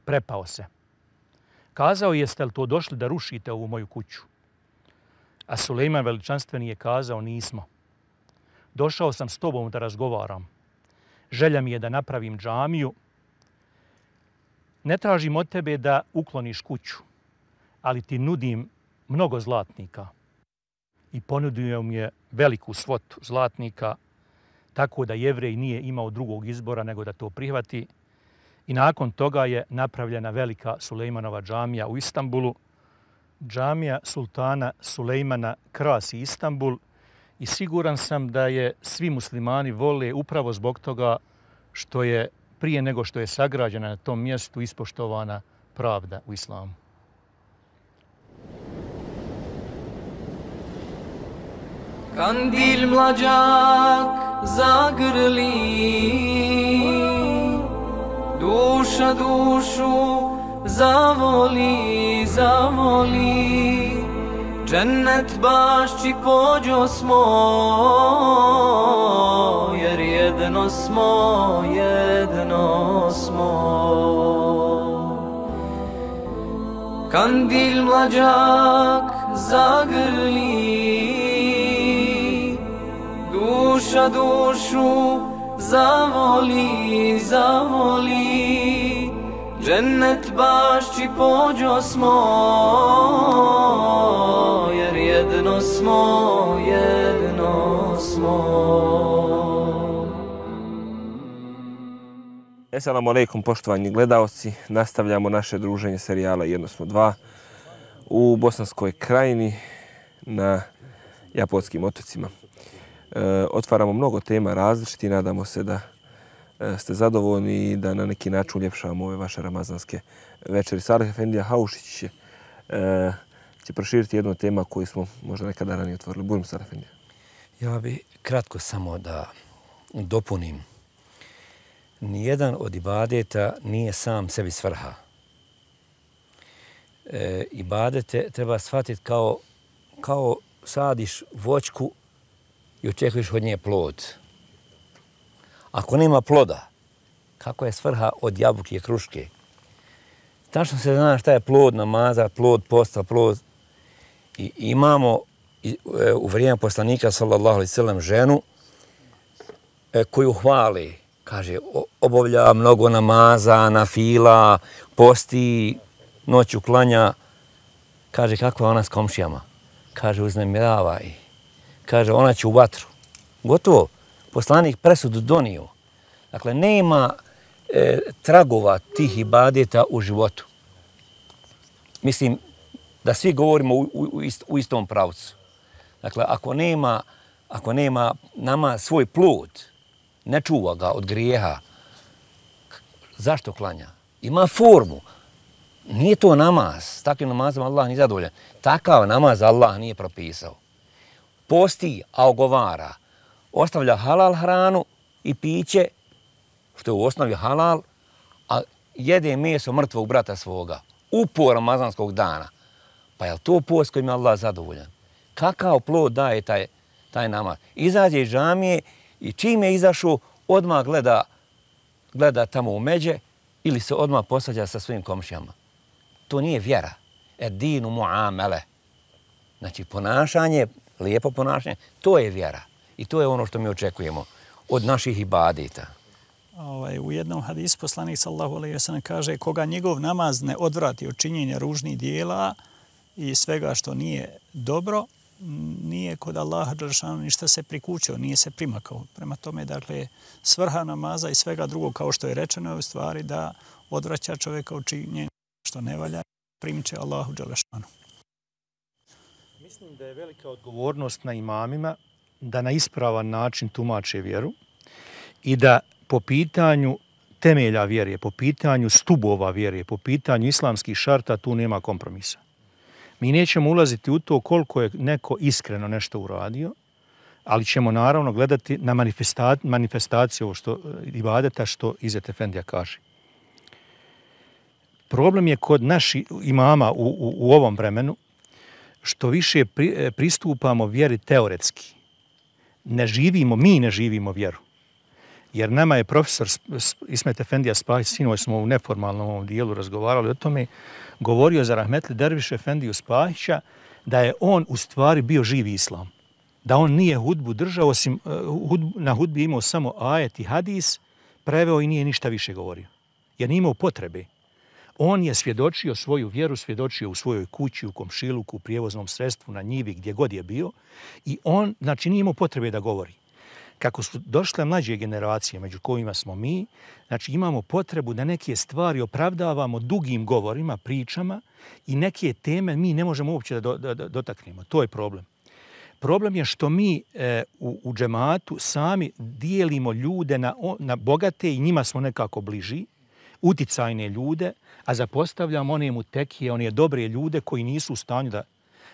prepao se. Kazao, jeste li to došli da rušite ovu moju kuću? A Sulejman veličanstveni je kazao, nismo. Došao sam s tobom da razgovaram. Želja mi je da napravim džamiju. Ne tražim od tebe da ukloniš kuću, ali ti nudim mnogo zlatnika i ponudio mu je veliku svotu zlatnika, tako da Jevrej nije imao drugog izbora nego da to prihvati. I nakon toga je napravljena velika Sulejmanova džamija u Istanbulu. Džamija sultana Sulejmana krasi Istanbul i siguran sam da je svi muslimani vole upravo zbog toga što je prije nego što je sagrađena na tom mjestu ispoštovana pravda u islamu. Kandil mlađak zagrli, duša dušu zavoli, zavoli, džennet bašći pođo smo, jer jedno smo, jedno smo. Kandil mlađak zagrli, duša dušu zavoli, zavoli, džennet bašći pođo smo, jer jedno smo, jedno smo. Assalamu alaikum, poštovani gledaoci. Nastavljamo naše druženje serijala Jedno smo dva u Bosanskoj krajini na Japotskim otocima. E, otvaramo mnogo tema različiti, nadamo se da e, ste zadovoljni i da na neki način uljepšavamo ove vaše ramazanske večeri. Salih Efendija Haušić će, e, će proširiti jednu tema koju smo možda nekada ranije otvorili. Budem Salih Efendija. Ja bi kratko samo da dopunim. Nijedan od ibadeta nije sam sebi svrha. E, ibadete treba shvatiti kao, kao sadiš voćku i očekuješ od nje plod. Ako nema ploda, kako je svrha od jabuke i kruške? Tačno se zna šta je plod namaza, plod posta, plod. I imamo u vrijeme poslanika sallallahu alejhi ve sellem ženu koju hvali. Kaže, obavlja mnogo namaza, nafila, posti, noću klanja. Kaže, kakva je ona s komšijama? Kaže, uznemirava ih. Kaže, ona će u vatru. Gotovo. Poslanik presudu donio. Dakle, nema e, tragova tih ibadeta u životu. Mislim da svi govorimo u, u, u istom pravcu. Dakle, ako nema, ako nema nama svoj plod, ne čuva ga od grijeha, zašto klanja? Ima formu. Nije to namaz. S takvim namazom Allah nije zadovoljan. Takav namaz Allah nije propisao. Posti, a ogovara. Ostavlja halal hranu i piće, što je u osnovi halal, a jede meso mrtvog brata svoga. Upor ramazanskog dana. Pa je li to post kojim je Allah zadovoljan? Kakav plod daje taj, taj namaz? Izađe iz džamije i čim je izašao, odmah gleda, gleda tamo u međe ili se odmah posađa sa svojim komšijama. To nije vjera. Edinu muamele. Znači, ponašanje, lijepo ponašanje, to je vjera. I to je ono što mi očekujemo od naših ibadeta. Ovaj, u jednom hadisu poslanik sallallahu alejhi ve sellem kaže koga njegov namaz ne odvrati od činjenja ružnih dijela i svega što nije dobro, nije kod Allaha dželešanu ništa se prikućio, nije se primakao. Prema tome, dakle, svrha namaza i svega drugog, kao što je rečeno, je u stvari da odvraća čovjeka od činjenja što ne valja, primiče Allahu dželešanu. Mislim da je velika odgovornost na imamima da na ispravan način tumače vjeru i da po pitanju temelja vjere, po pitanju stubova vjere, po pitanju islamskih šarta tu nema kompromisa. Mi nećemo ulaziti u to koliko je neko iskreno nešto uradio, ali ćemo naravno gledati na manifestaciju ovo što ibadeta što Izet Efendija kaže. Problem je kod naših imama u, u, u ovom vremenu što više pri, pristupamo vjeri teoretski. Ne živimo, mi ne živimo vjeru. Jer nama je profesor Ismet Efendija Spahić, sinoć smo u neformalnom ovom dijelu razgovarali o tome, govorio za rahmetli Derviš Efendiju Spahića da je on u stvari bio živi islam. Da on nije hudbu držao, osim hudbu, na hudbi imao samo ajet i hadis, preveo i nije ništa više govorio. Jer nije imao potrebe. On je svjedočio svoju vjeru, svjedočio u svojoj kući, u komšiluku, u prijevoznom sredstvu, na njivi, gdje god je bio. I on, znači, nije imao potrebe da govori. Kako su došle mlađe generacije, među kojima smo mi, znači imamo potrebu da neke stvari opravdavamo dugim govorima, pričama i neke teme mi ne možemo uopće da, do, da, da dotaknemo. To je problem. Problem je što mi e, u, u džematu sami dijelimo ljude na, na bogate i njima smo nekako bliži, uticajne ljude, a zapostavljamo one mutekije, one dobre ljude koji nisu u stanju da...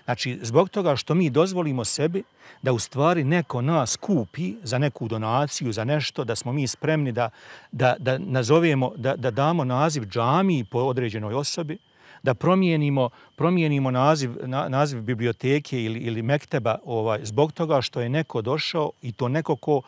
Znači, zbog toga što mi dozvolimo sebi da u stvari neko nas kupi za neku donaciju, za nešto, da smo mi spremni da, da, da nazovemo, da, da damo naziv džamiji po određenoj osobi, da promijenimo, promijenimo naziv, na, naziv biblioteke ili, ili mekteba ovaj, zbog toga što je neko došao i to neko ko,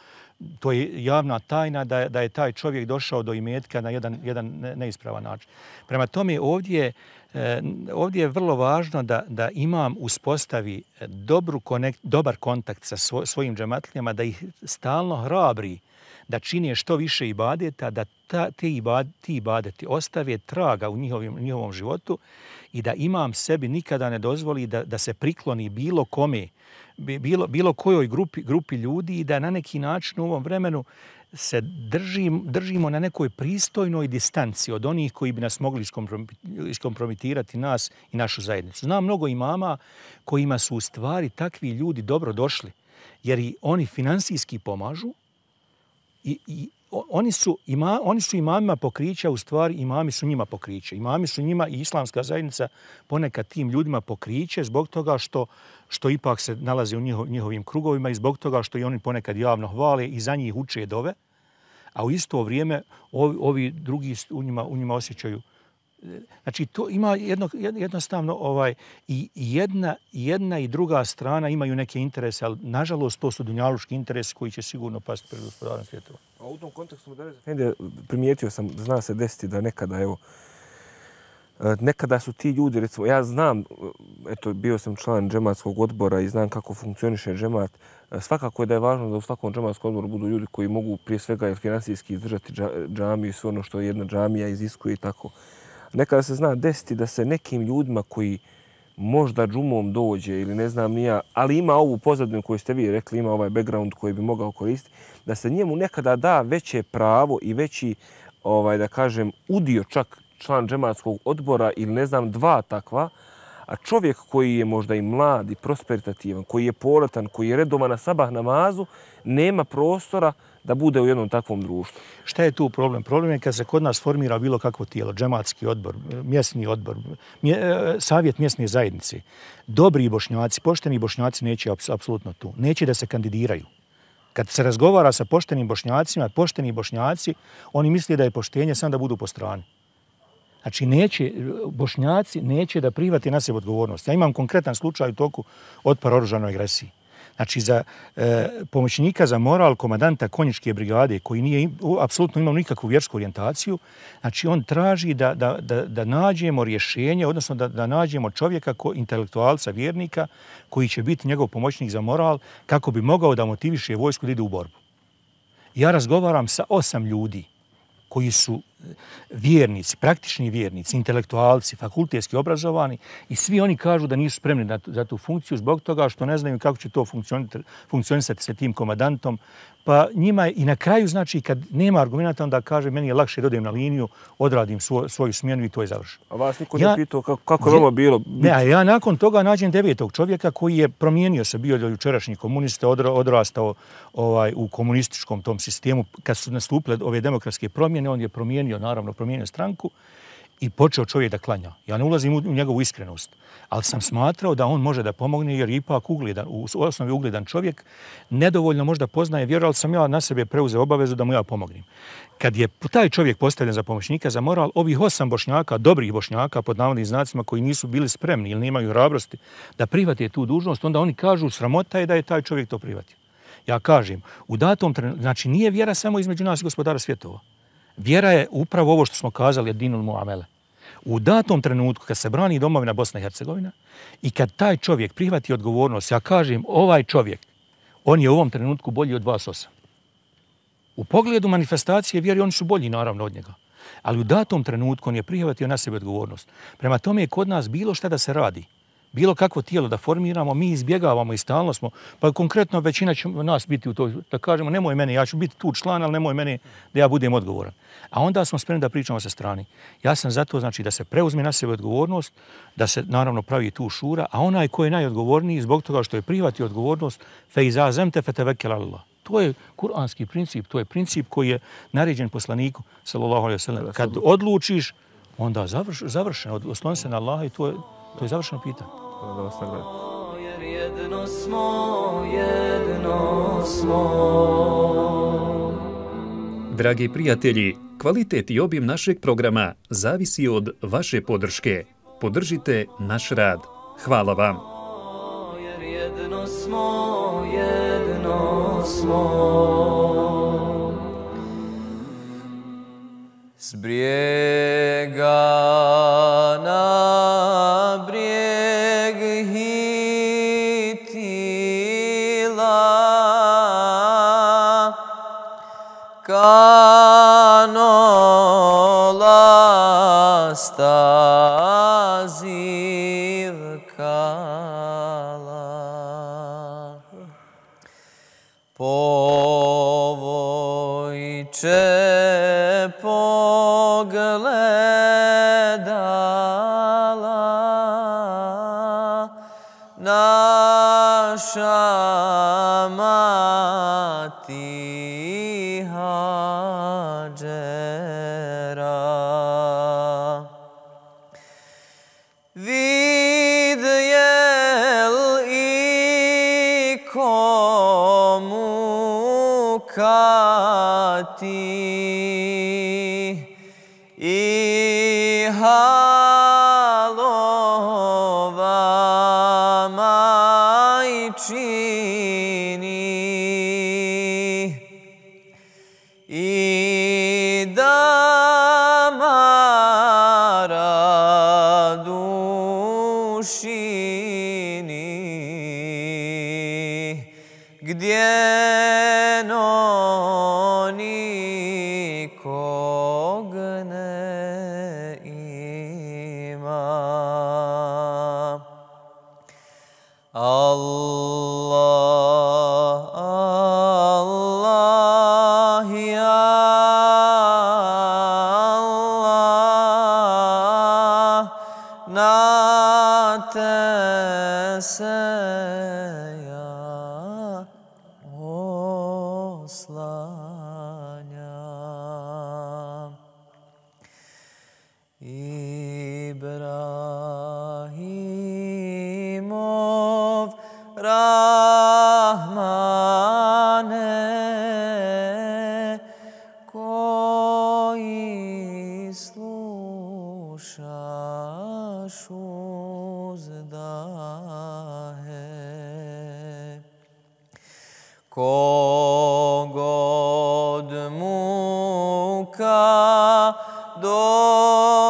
to je javna tajna da je, da je taj čovjek došao do imetka na jedan, jedan neispravan način. Prema tome ovdje, eh, ovdje je vrlo važno da, da imam uspostavi dobru konekt, dobar kontakt sa svo, svojim džematlijama, da ih stalno hrabri da čine što više ibadeta, da ta, te ibad, ti ibadeti ostave traga u njihovim, njihovom životu i da imam sebi nikada ne dozvoli da, da se prikloni bilo kome, bilo, bilo kojoj grupi, grupi ljudi i da na neki način u ovom vremenu se držim, držimo na nekoj pristojnoj distanci od onih koji bi nas mogli iskompromitirati nas i našu zajednicu. Znam mnogo imama kojima su u stvari takvi ljudi dobro došli, jer i oni finansijski pomažu, I, i oni, su ima, oni su imamima pokrića, u stvari imami su njima pokriće. Imami su njima i islamska zajednica ponekad tim ljudima pokriće zbog toga što, što ipak se nalaze u njihov, njihovim krugovima i zbog toga što i oni ponekad javno hvale i za njih uče dove, a u isto vrijeme ovi, ovi drugi u njima, u njima osjećaju. Znači, to ima jedno, jednostavno ovaj, i jedna, jedna i druga strana imaju neke interese, ali nažalost to su dunjaluški interesi koji će sigurno pasti pred gospodarom svjetova. A u tom kontekstu Mudarris primijetio sam, zna se desiti da nekada, evo, nekada su ti ljudi, recimo, ja znam, eto, bio sam član džematskog odbora i znam kako funkcioniše džemat. Svakako je da je važno da u svakom džematskom odboru budu ljudi koji mogu prije svega finansijski izdržati džamiju i sve ono što jedna džamija iziskuje i tako. Nekada se zna desiti da se nekim ljudima koji možda džumom dođe ili ne znam nija, ali ima ovu pozadinu koju ste vi rekli, ima ovaj background koji bi mogao koristiti, da se njemu nekada da veće pravo i veći, ovaj, da kažem, udio čak član džematskog odbora ili ne znam dva takva, a čovjek koji je možda i mlad i prosperitativan, koji je poletan, koji je redovan na sabah namazu, nema prostora da bude u jednom takvom društvu. Šta je tu problem? Problem je kad se kod nas formira bilo kakvo tijelo, džematski odbor, mjesni odbor, mje, savjet mjesne zajednice. Dobri bošnjaci, pošteni bošnjaci neće apsolutno tu. Neće da se kandidiraju. Kad se razgovara sa poštenim bošnjacima, pošteni bošnjaci, oni misle da je poštenje samo da budu po strani. Znači, neće, bošnjaci neće da prihvati na sebe odgovornost. Ja imam konkretan slučaj u toku otpora oružanoj agresiji. Znači, za e, pomoćnika za moral komandanta konjičke brigade, koji nije apsolutno imao nikakvu vjersku orijentaciju, znači, on traži da, da, da, da nađemo rješenje, odnosno da, da nađemo čovjeka, ko, intelektualca, vjernika, koji će biti njegov pomoćnik za moral, kako bi mogao da motiviše vojsku da ide u borbu. Ja razgovaram sa osam ljudi koji su vjernici, praktični vjernici, intelektualci, fakultetski obrazovani i svi oni kažu da nisu spremni na tu, za tu funkciju zbog toga što ne znaju kako će to funkcionisati sa tim komandantom. Pa njima je, i na kraju, znači, kad nema argumenta, onda kaže meni je lakše da odem na liniju, odradim svoj, svoju smjenu i to je završeno. A vas niko ja, ne pitao kako, kako je vama bilo? Ne, a ja nakon toga nađem devetog čovjeka koji je promijenio se, bio do jučerašnji komunista, odra, odrastao ovaj, u komunističkom tom sistemu. Kad su nastupile ove demokratske promjene, on je promijenio, naravno, promijenio stranku i počeo čovjek da klanja. Ja ne ulazim u njegovu iskrenost, ali sam smatrao da on može da pomogne jer je ipak ugledan, u osnovi ugledan čovjek, nedovoljno možda poznaje vjeru, ali sam ja na sebe preuzeo obavezu da mu ja pomognem. Kad je taj čovjek postavljen za pomoćnika za moral, ovih osam bošnjaka, dobrih bošnjaka, pod navodnim znacima, koji nisu bili spremni ili nemaju hrabrosti da prihvate tu dužnost, onda oni kažu sramota je da je taj čovjek to prihvatio. Ja kažem, u datom trenutku, znači nije vjera samo između nas i gospodara svjetova. Vjera je upravo ovo što smo kazali, dinul muamele. U datom trenutku, kad se brani domovina Bosna i Hercegovina i kad taj čovjek prihvati odgovornost, ja kažem, ovaj čovjek, on je u ovom trenutku bolji od vas osam. U pogledu manifestacije vjeri, oni su bolji naravno od njega. Ali u datom trenutku on je prihvatio na sebe odgovornost. Prema tome je kod nas bilo šta da se radi. Bilo kakvo tijelo da formiramo, mi izbjegavamo i stalno smo, pa konkretno većina će nas biti u toj, da kažemo, nemoj mene, ja ću biti tu član, ali nemoj mene da ja budem odgovoran. A onda smo spremni da pričamo sa strani. Ja sam zato, znači, da se preuzme na sebe odgovornost, da se naravno pravi tu šura, a onaj ko je najodgovorniji zbog toga što je prihvatio odgovornost, fe iza zemte fe tevekel Allah. To je kuranski princip, to je princip koji je naređen poslaniku, sallallahu alejhi ve sellem. Kad odlučiš, onda završ, završeno, osloni se na Allaha i to je, to je završeno pitanje. Jer jedno smo, jedno smo. Dragi prijatelji, kvalitet i obim našeg programa zavisi od vaše podrške. Podržite naš rad. Hvala vam. Jer jedno smo, jedno smo. S brijega na brijeg hitila, kanola stazivkala. Povojče pogledala naša mati Hadžera. Vidjel i komu kati i halova majčini i damara dušini, gdje no nikog ne ima. Allah, Allah, ja Allah, na te se ja oslanjam. Ibrahimov Rahmane, koji slušaš uzdahe, kogod muka dopane,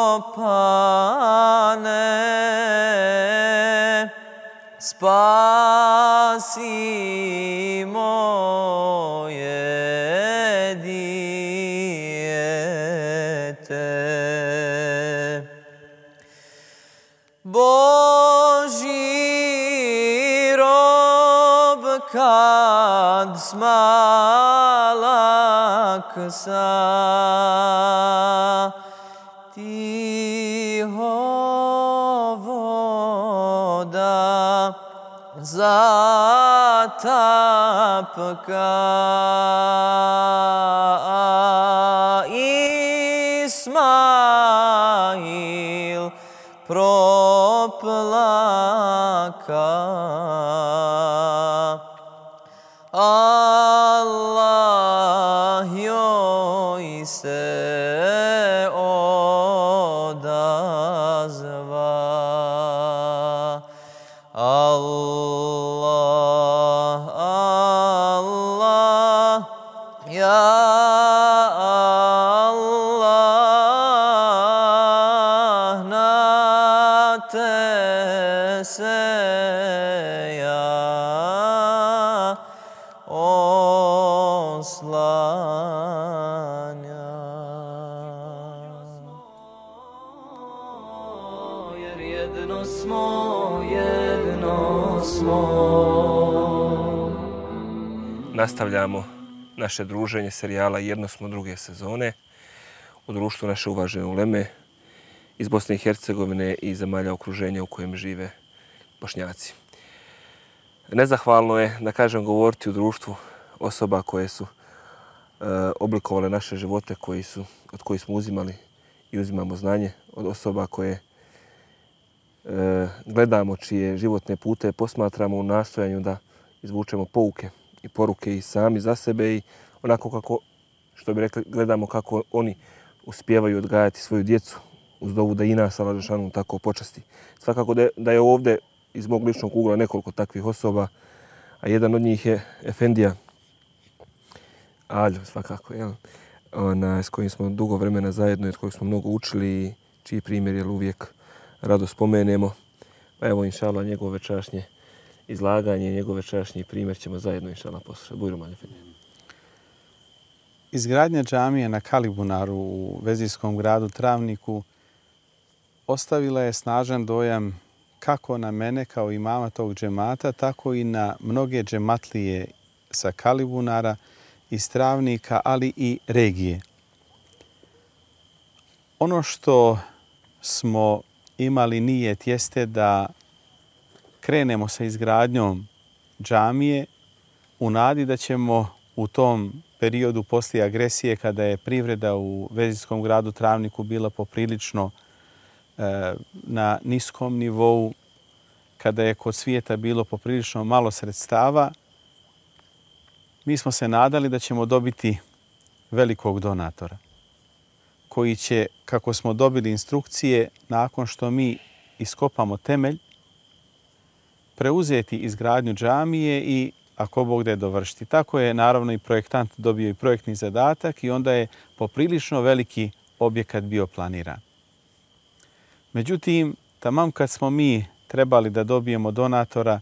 spasi moje dijete. Božji rob kad smalak sa tiho voda zatapka, Ismail proplaka. Allah joj se odazva. Allah, Allah, ja Allah, na te se ja oslanjam. Jedno smo, jedno smo. Nastavljamo naše druženje serijala Jedno smo druge sezone u društvu naše uvažene uleme iz Bosne i Hercegovine i zemalja okruženja u kojem žive Bošnjaci. Nezahvalno je, da kažem, govoriti u društvu osoba koje su e, oblikovale naše živote, koji su, od kojih smo uzimali i uzimamo znanje, od osoba koje e, gledamo, čije životne pute posmatramo u nastojanju da izvučemo pouke i poruke i sami za sebe i onako kako, što bi rekli, gledamo kako oni uspijevaju odgajati svoju djecu uz dovu da i nas Allah dželešanu tako počasti. Svakako da je, da je ovdje iz mog ličnog ugla nekoliko takvih osoba, a jedan od njih je Efendija Aljo, svakako, jel? Ona, s kojim smo dugo vremena zajedno i od kojeg smo mnogo učili i čiji primjer jel, uvijek rado spomenemo. Pa evo, inšallah, njegovo večerašnje izlaganje, njegov večerašnji primjer ćemo zajedno, inšallah, poslušati. Bujrum, Efendija. Izgradnja džamije na Kalibunaru u vezijskom gradu Travniku ostavila je snažan dojam kako na mene kao imama tog džemata, tako i na mnoge džematlije sa Kalibunara, iz Travnika, ali i regije. Ono što smo imali nijet jeste da krenemo sa izgradnjom džamije u nadi da ćemo u tom periodu poslije agresije, kada je privreda u vezijskom gradu Travniku bila poprilično e, na niskom nivou, kada je kod svijeta bilo poprilično malo sredstava, mi smo se nadali da ćemo dobiti velikog donatora koji će, kako smo dobili instrukcije, nakon što mi iskopamo temelj, preuzeti izgradnju džamije i ako Bog da je dovršiti. Tako je naravno i projektant dobio i projektni zadatak i onda je poprilično veliki objekat bio planiran. Međutim, tamam kad smo mi trebali da dobijemo donatora,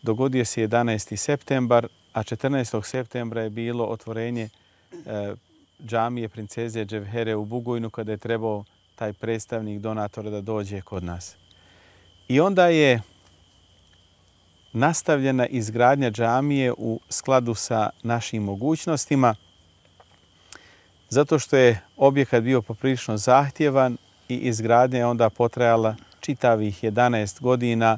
dogodio se jedanaesti septembar, a četrnaestog septembra je bilo otvorenje e, džamije princeze Dževhere u Bugojnu, kada je trebao taj predstavnik donatora da dođe kod nas. I onda je nastavljena izgradnja džamije u skladu sa našim mogućnostima, zato što je objekat bio poprilično zahtjevan i izgradnja je onda potrajala čitavih jedanaest godina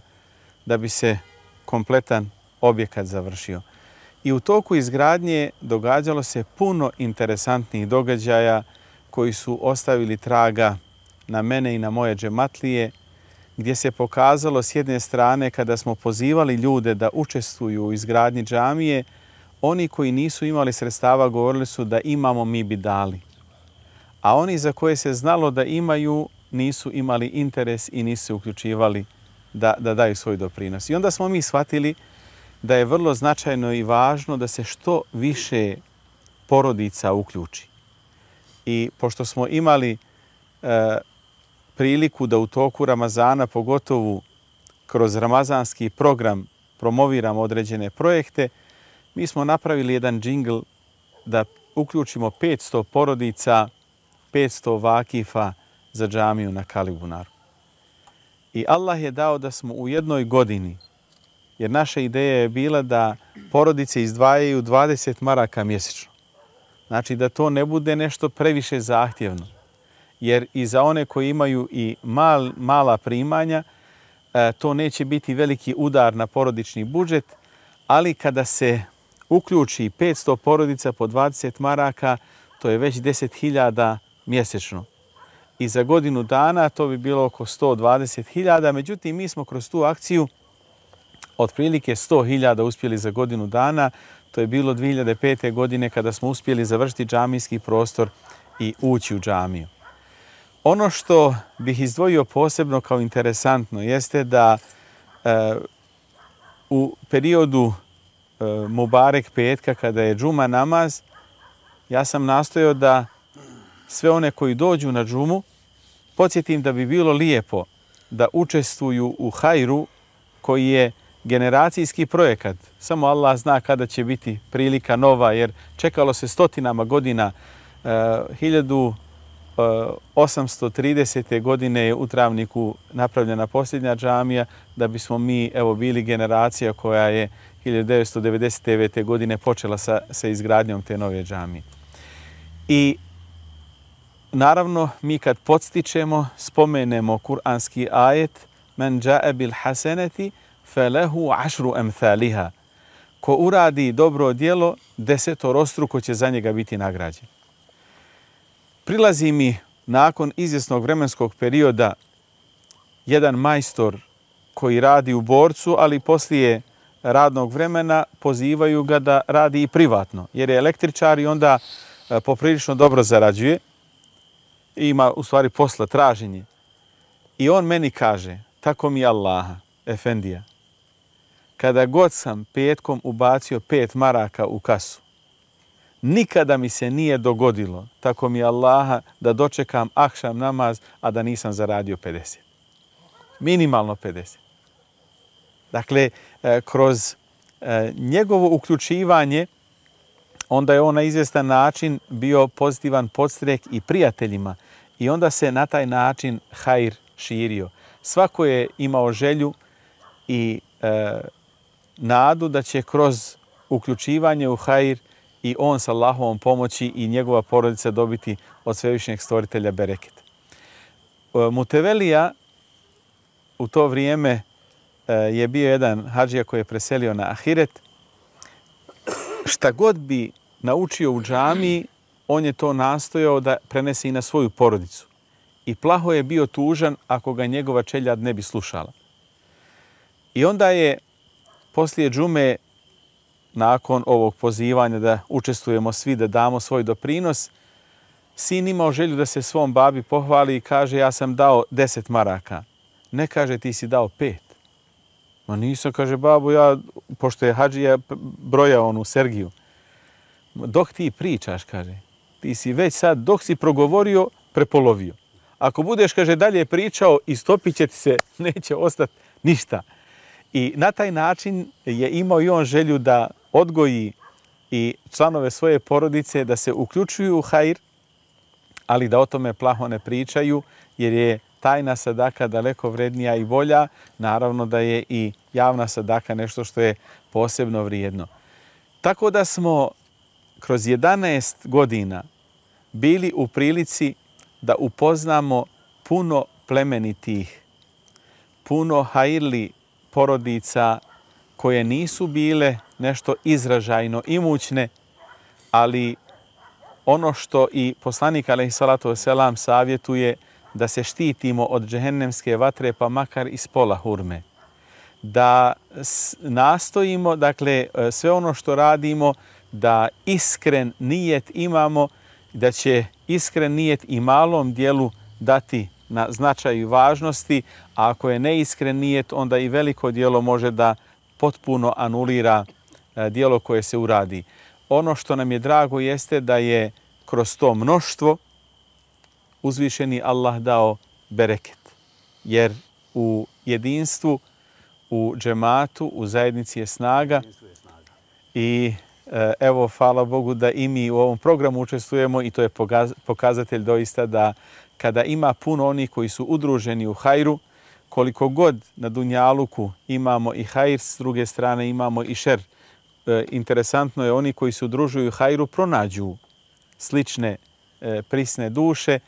da bi se kompletan objekat završio. I u toku izgradnje događalo se puno interesantnih događaja koji su ostavili traga na mene i na moje džematlije, gdje se pokazalo s jedne strane kada smo pozivali ljude da učestvuju u izgradnji džamije, oni koji nisu imali sredstava govorili su da imamo, mi bi dali. A oni za koje se znalo da imaju nisu imali interes i nisu se uključivali da, da daju svoj doprinos. I onda smo mi shvatili da je vrlo značajno i važno da se što više porodica uključi. I pošto smo imali e, priliku da u toku Ramazana, pogotovo kroz ramazanski program, promoviramo određene projekte, mi smo napravili jedan džingl da uključimo petsto porodica, petsto vakifa za džamiju na Kalibunaru. I Allah je dao da smo u jednoj godini, jer naša ideja je bila da porodice izdvajaju dvadeset maraka mjesečno. Znači da to ne bude nešto previše zahtjevno. Jer i za one koji imaju i mal, mala primanja, to neće biti veliki udar na porodični budžet, ali kada se uključi petsto porodica po dvadeset maraka, to je već deset hiljada mjesečno. I za godinu dana to bi bilo oko sto dvadeset hiljada, međutim mi smo kroz tu akciju otprilike sto hiljada uspjeli za godinu dana. To je bilo dvije hiljade pete. godine kada smo uspjeli završiti džamijski prostor i ući u džamiju. Ono što bih izdvojio posebno kao interesantno jeste da e, u periodu e, Mubarek petka, kada je džuma namaz, ja sam nastojao da sve one koji dođu na džumu podsjetim da bi bilo lijepo da učestvuju u hajru koji je generacijski projekat. Samo Allah zna kada će biti prilika nova, jer čekalo se stotinama godina. E, hiljadu osamsto tridesete. godine je u Travniku napravljena posljednja džamija, da bismo mi evo bili generacija koja je hiljadu devetsto devedeset devete. godine počela sa, sa izgradnjom te nove džamije. I naravno, mi kad podstičemo, spomenemo kuranski ajet Men džae bil haseneti felehu ašru emthaliha. Ko uradi dobro djelo, desetorostruko će za njega biti nagrađen. Prilazi mi nakon izvjesnog vremenskog perioda jedan majstor koji radi u Borcu, ali poslije radnog vremena pozivaju ga da radi i privatno, jer je električar i onda poprilično dobro zarađuje. Ima u stvari posla, traženje. I on meni kaže, tako mi Allaha, efendija, kada god sam petkom ubacio pet maraka u kasu, nikada mi se nije dogodilo, tako mi Allaha, da dočekam akšam namaz, a da nisam zaradio pedeset. Minimalno pedeset. Dakle, kroz njegovo uključivanje, onda je on na izvjestan način bio pozitivan podstrek i prijateljima i onda se na taj način hajr širio. Svako je imao želju i e, nadu da će kroz uključivanje u hajr i on sa Allahovom pomoći i njegova porodica dobiti od svevišnjeg stvoritelja bereket. E, Mutevelija u to vrijeme e, je bio jedan hadžija koji je preselio na ahiret. Šta god bi naučio u džamiji, on je to nastojao da prenese i na svoju porodicu. I plaho je bio tužan ako ga njegova čeljad ne bi slušala. I onda je poslije džume, nakon ovog pozivanja da učestvujemo svi, da damo svoj doprinos, sin imao želju da se svom babi pohvali i kaže ja sam dao deset maraka. Ne kaže ti si dao pet. Ma nisam, kaže babo, ja, pošto je hadžija broja onu Sergiju. Dok ti pričaš, kaže, ti si već sad, dok si progovorio, prepolovio. Ako budeš, kaže, dalje pričao, istopit će ti se, neće ostati ništa. I na taj način je imao i on želju da odgoji i članove svoje porodice, da se uključuju u hajr, ali da o tome plaho ne pričaju, jer je tajna sadaka daleko vrednija i bolja. Naravno da je i javna sadaka nešto što je posebno vrijedno. Tako da smo kroz jedanaest godina bili u prilici da upoznamo puno plemenitih, puno hajrli porodica koje nisu bile nešto izražajno imućne, ali ono što i poslanik alejhi salatu vesselam savjetuje, da se štitimo od džehennemske vatre, pa makar iz pola hurme. Da nastojimo, dakle, sve ono što radimo, da iskren nijet imamo, da će iskren nijet i malom dijelu dati na značaju i važnosti, a ako je neiskren nijet, onda i veliko dijelo može da potpuno anulira dijelo koje se uradi. Ono što nam je drago jeste da je kroz to mnoštvo uzvišeni Allah dao bereket. Jer u jedinstvu, u džematu, u zajednici je snaga. I evo, hvala Bogu da i mi u ovom programu učestvujemo i to je pokazatelj doista da kada ima puno onih koji su udruženi u hajru, koliko god na dunjaluku imamo i hajr, s druge strane imamo i šer. E, interesantno je, oni koji se udružuju u hajru pronađu slične e, prisne duše,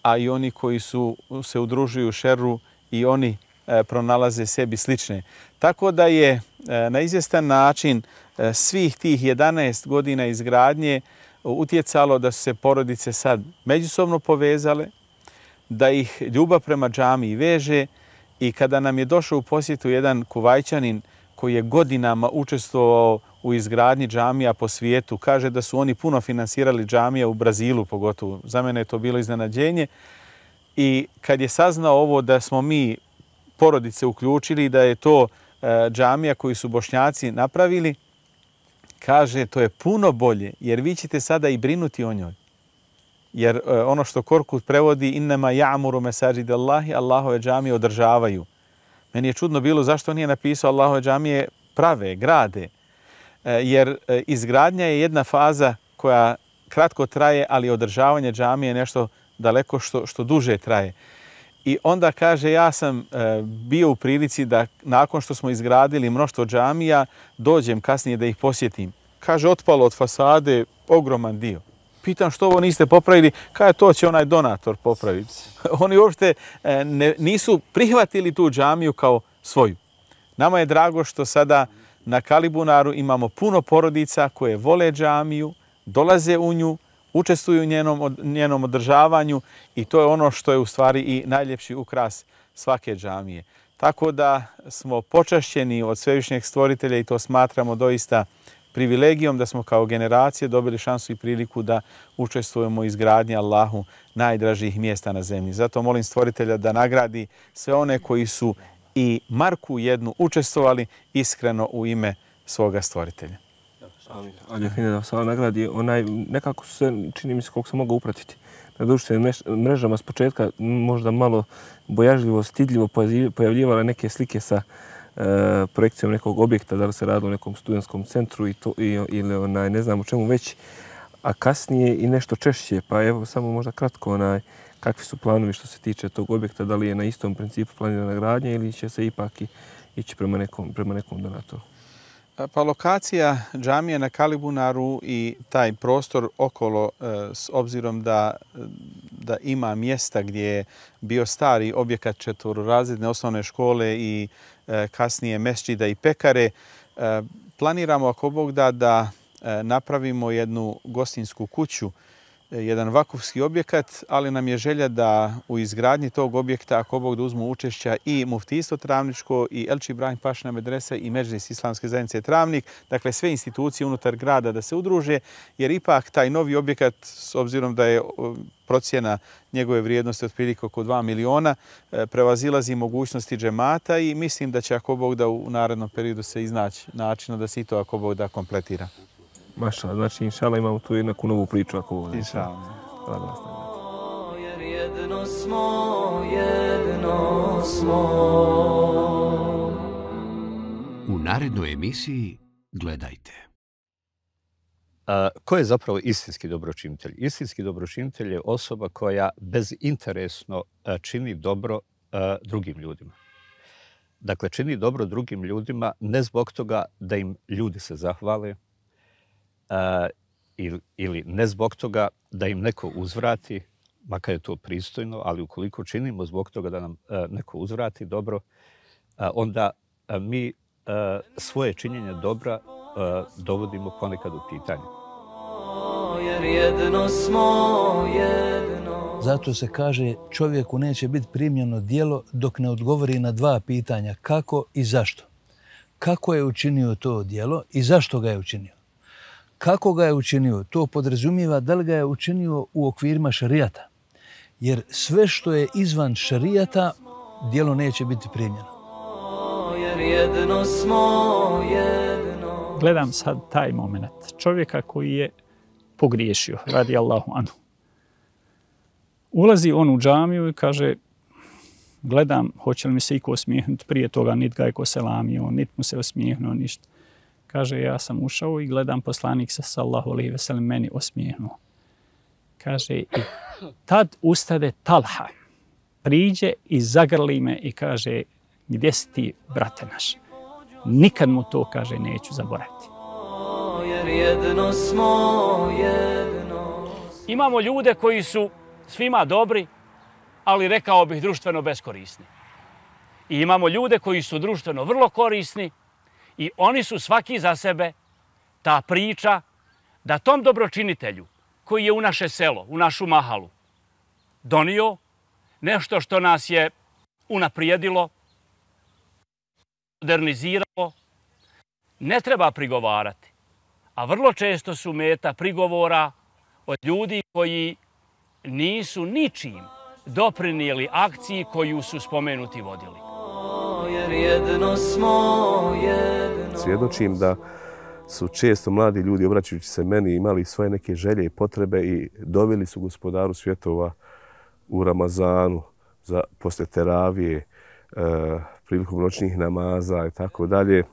a i oni koji su se udružuju u šeru i oni e, pronalaze sebi slične. Tako da je e, na izvjestan način e, svih tih jedanaest godina izgradnje utjecalo da su se porodice sad međusobno povezale, da ih ljubav prema džamiji veže. I kada nam je došao u posjetu jedan Kuvajčanin koji je godinama učestvovao u izgradnji džamija po svijetu, kaže da su oni puno finansirali džamija u Brazilu pogotovo. Za mene je to bilo iznenađenje. I kad je saznao ovo da smo mi porodice uključili, da je to džamija koju su Bošnjaci napravili, kaže to je puno bolje jer vi ćete sada i brinuti o njoj. Jer ono što Korkut prevodi innema ja'muru mesajid Allahi, Allahove džamije održavaju. Meni je čudno bilo zašto nije napisao Allahove džamije prave, grade. Jer izgradnja je jedna faza koja kratko traje, ali održavanje džamije je nešto daleko što, što duže traje. I onda kaže, ja sam e, bio u prilici da nakon što smo izgradili mnoštvo džamija, dođem kasnije da ih posjetim. Kaže, otpalo od fasade ogroman dio. Pitam što ovo niste popravili, kaže, to će onaj donator popraviti. Oni uopšte e, ne, nisu prihvatili tu džamiju kao svoju. Nama je drago što sada na Kalibunaru imamo puno porodica koje vole džamiju, dolaze u nju, učestvuju u njenom, njenom održavanju i to je ono što je u stvari i najljepši ukras svake džamije. Tako da smo počašćeni od Svevišnjeg Stvoritelja i to smatramo doista privilegijom da smo kao generacije dobili šansu i priliku da učestvujemo u izgradnji Allahu najdražih mjesta na zemlji. Zato molim Stvoritelja da nagradi sve one koji su i marku jednu učestvovali iskreno u ime svoga Stvoritelja. Ali fine da se nagradi, onaj, nekako su se, čini mi se koliko sam mogao upratiti, na društvenim mrežama s početka možda malo bojažljivo, stidljivo pojavljivale neke slike sa e, projekcijom nekog objekta, da li se radi o nekom studentskom centru i to, i, ili onaj, ne znam o čemu već, a kasnije i nešto češće. Pa evo samo možda kratko, onaj, kakvi su planovi što se tiče tog objekta, da li je na istom principu planirana gradnja ili će se ipak i, ići prema nekom, prema nekom donatoru? Pa lokacija džamije na Kalibunaru i taj prostor okolo, s obzirom da, da ima mjesta gdje je bio stari objekat četvororazredne osnovne škole i kasnije mesdžida i pekare, planiramo ako Bog da da napravimo jednu gostinsku kuću, jedan vakufski objekat, ali nam je želja da u izgradnji tog objekta, ako Bog da uzmu učešća i Muftijstvo Travničko, i Elči Ibrahim Pašina medresa i Medžlis Islamske zajednice Travnik, dakle sve institucije unutar grada da se udruže, jer ipak taj novi objekat, s obzirom da je procjena njegove vrijednosti otprilike oko dva miliona, prevazilazi mogućnosti džemata i mislim da će ako Bog da u narednom periodu se iznaći načina da se i to ako Bog da kompletira. Mašala, znači inšala imamo tu i neku novu priču ako ovo. Inšala. Jer jedno smo, jedno smo. U narednoj emisiji gledajte. A, ko je zapravo istinski dobročinitelj? Istinski dobročinitelj je osoba koja bezinteresno a, čini dobro a, drugim ljudima. Dakle, čini dobro drugim ljudima ne zbog toga da im ljudi se zahvale, Uh, ili, ili ne zbog toga da im neko uzvrati, makar je to pristojno, ali ukoliko činimo zbog toga da nam uh, neko uzvrati dobro, uh, onda uh, mi uh, svoje činjenje dobra uh, dovodimo ponekad u pitanje. Jer jedno smo, jedno. Zato se kaže čovjeku neće biti primljeno djelo dok ne odgovori na dva pitanja, kako i zašto. Kako je učinio to djelo i zašto ga je učinio? Kako ga je učinio? To podrazumijeva da li ga je učinio u okvirima šarijata. Jer sve što je izvan šarijata, djelo neće biti primljeno. Jer jedno smo, jedno. Gledam sad taj moment čovjeka koji je pogriješio, radi Allahu anhu. Ulazi on u džamiju i kaže, gledam, hoće li mi se iko osmijehnuti, prije toga nit ga je ko selamio, nit mu se osmijehnuo, ništa. Kaže, ja sam ušao i gledam poslanik sa sallahu alejhi ve sellem meni osmijehnuo. Kaže, i tad ustade Talha, priđe i zagrli me i kaže, gdje si ti, brate naš? Nikad mu to, kaže, neću zaboraviti. Jer jedno smo, jedno. Imamo ljude koji su svima dobri, ali rekao bih društveno beskorisni. I imamo ljude koji su društveno vrlo korisni, i oni su svaki za sebe ta priča da tom dobročinitelju koji je u naše selo, u našu mahalu, donio nešto što nas je unaprijedilo, moderniziralo, ne treba prigovarati. A vrlo često su meta prigovora od ljudi koji nisu ničim doprinijeli akciji koju su spomenuti vodili. Jer jedno smo, jedno. Svjedočim da su često mladi ljudi, obraćajući se meni, imali svoje neke želje i potrebe i doveli su Gospodaru svjetova u Ramazanu za posle teravije, e, prilikom noćnih namaza i tako dalje.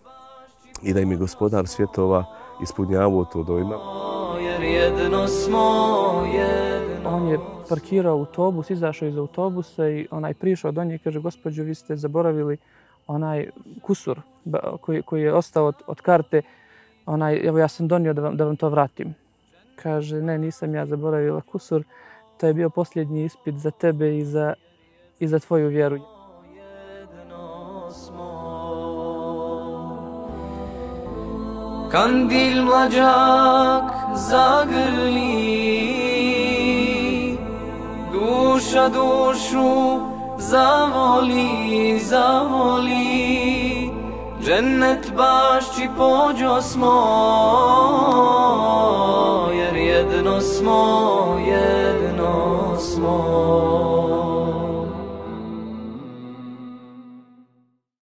I da im je Gospodar svjetova ispunjavao to dojma. Jer jedno smo, jedno. on je parkirao autobus, izašao iz autobusa i onaj prišao do nje i kaže, gospođo, vi ste zaboravili onaj kusur koji, koji je ostao od, od karte, onaj, evo ja sam donio da vam, da vam to vratim. Kaže, ne, nisam ja zaboravila kusur, to je bio posljednji ispit za tebe i za, i za tvoju vjeru. Kandil mlađak zagrli, duša dušu zavoli, zavoli, džennet bašći pođo smo, jer jedno smo, jedno smo.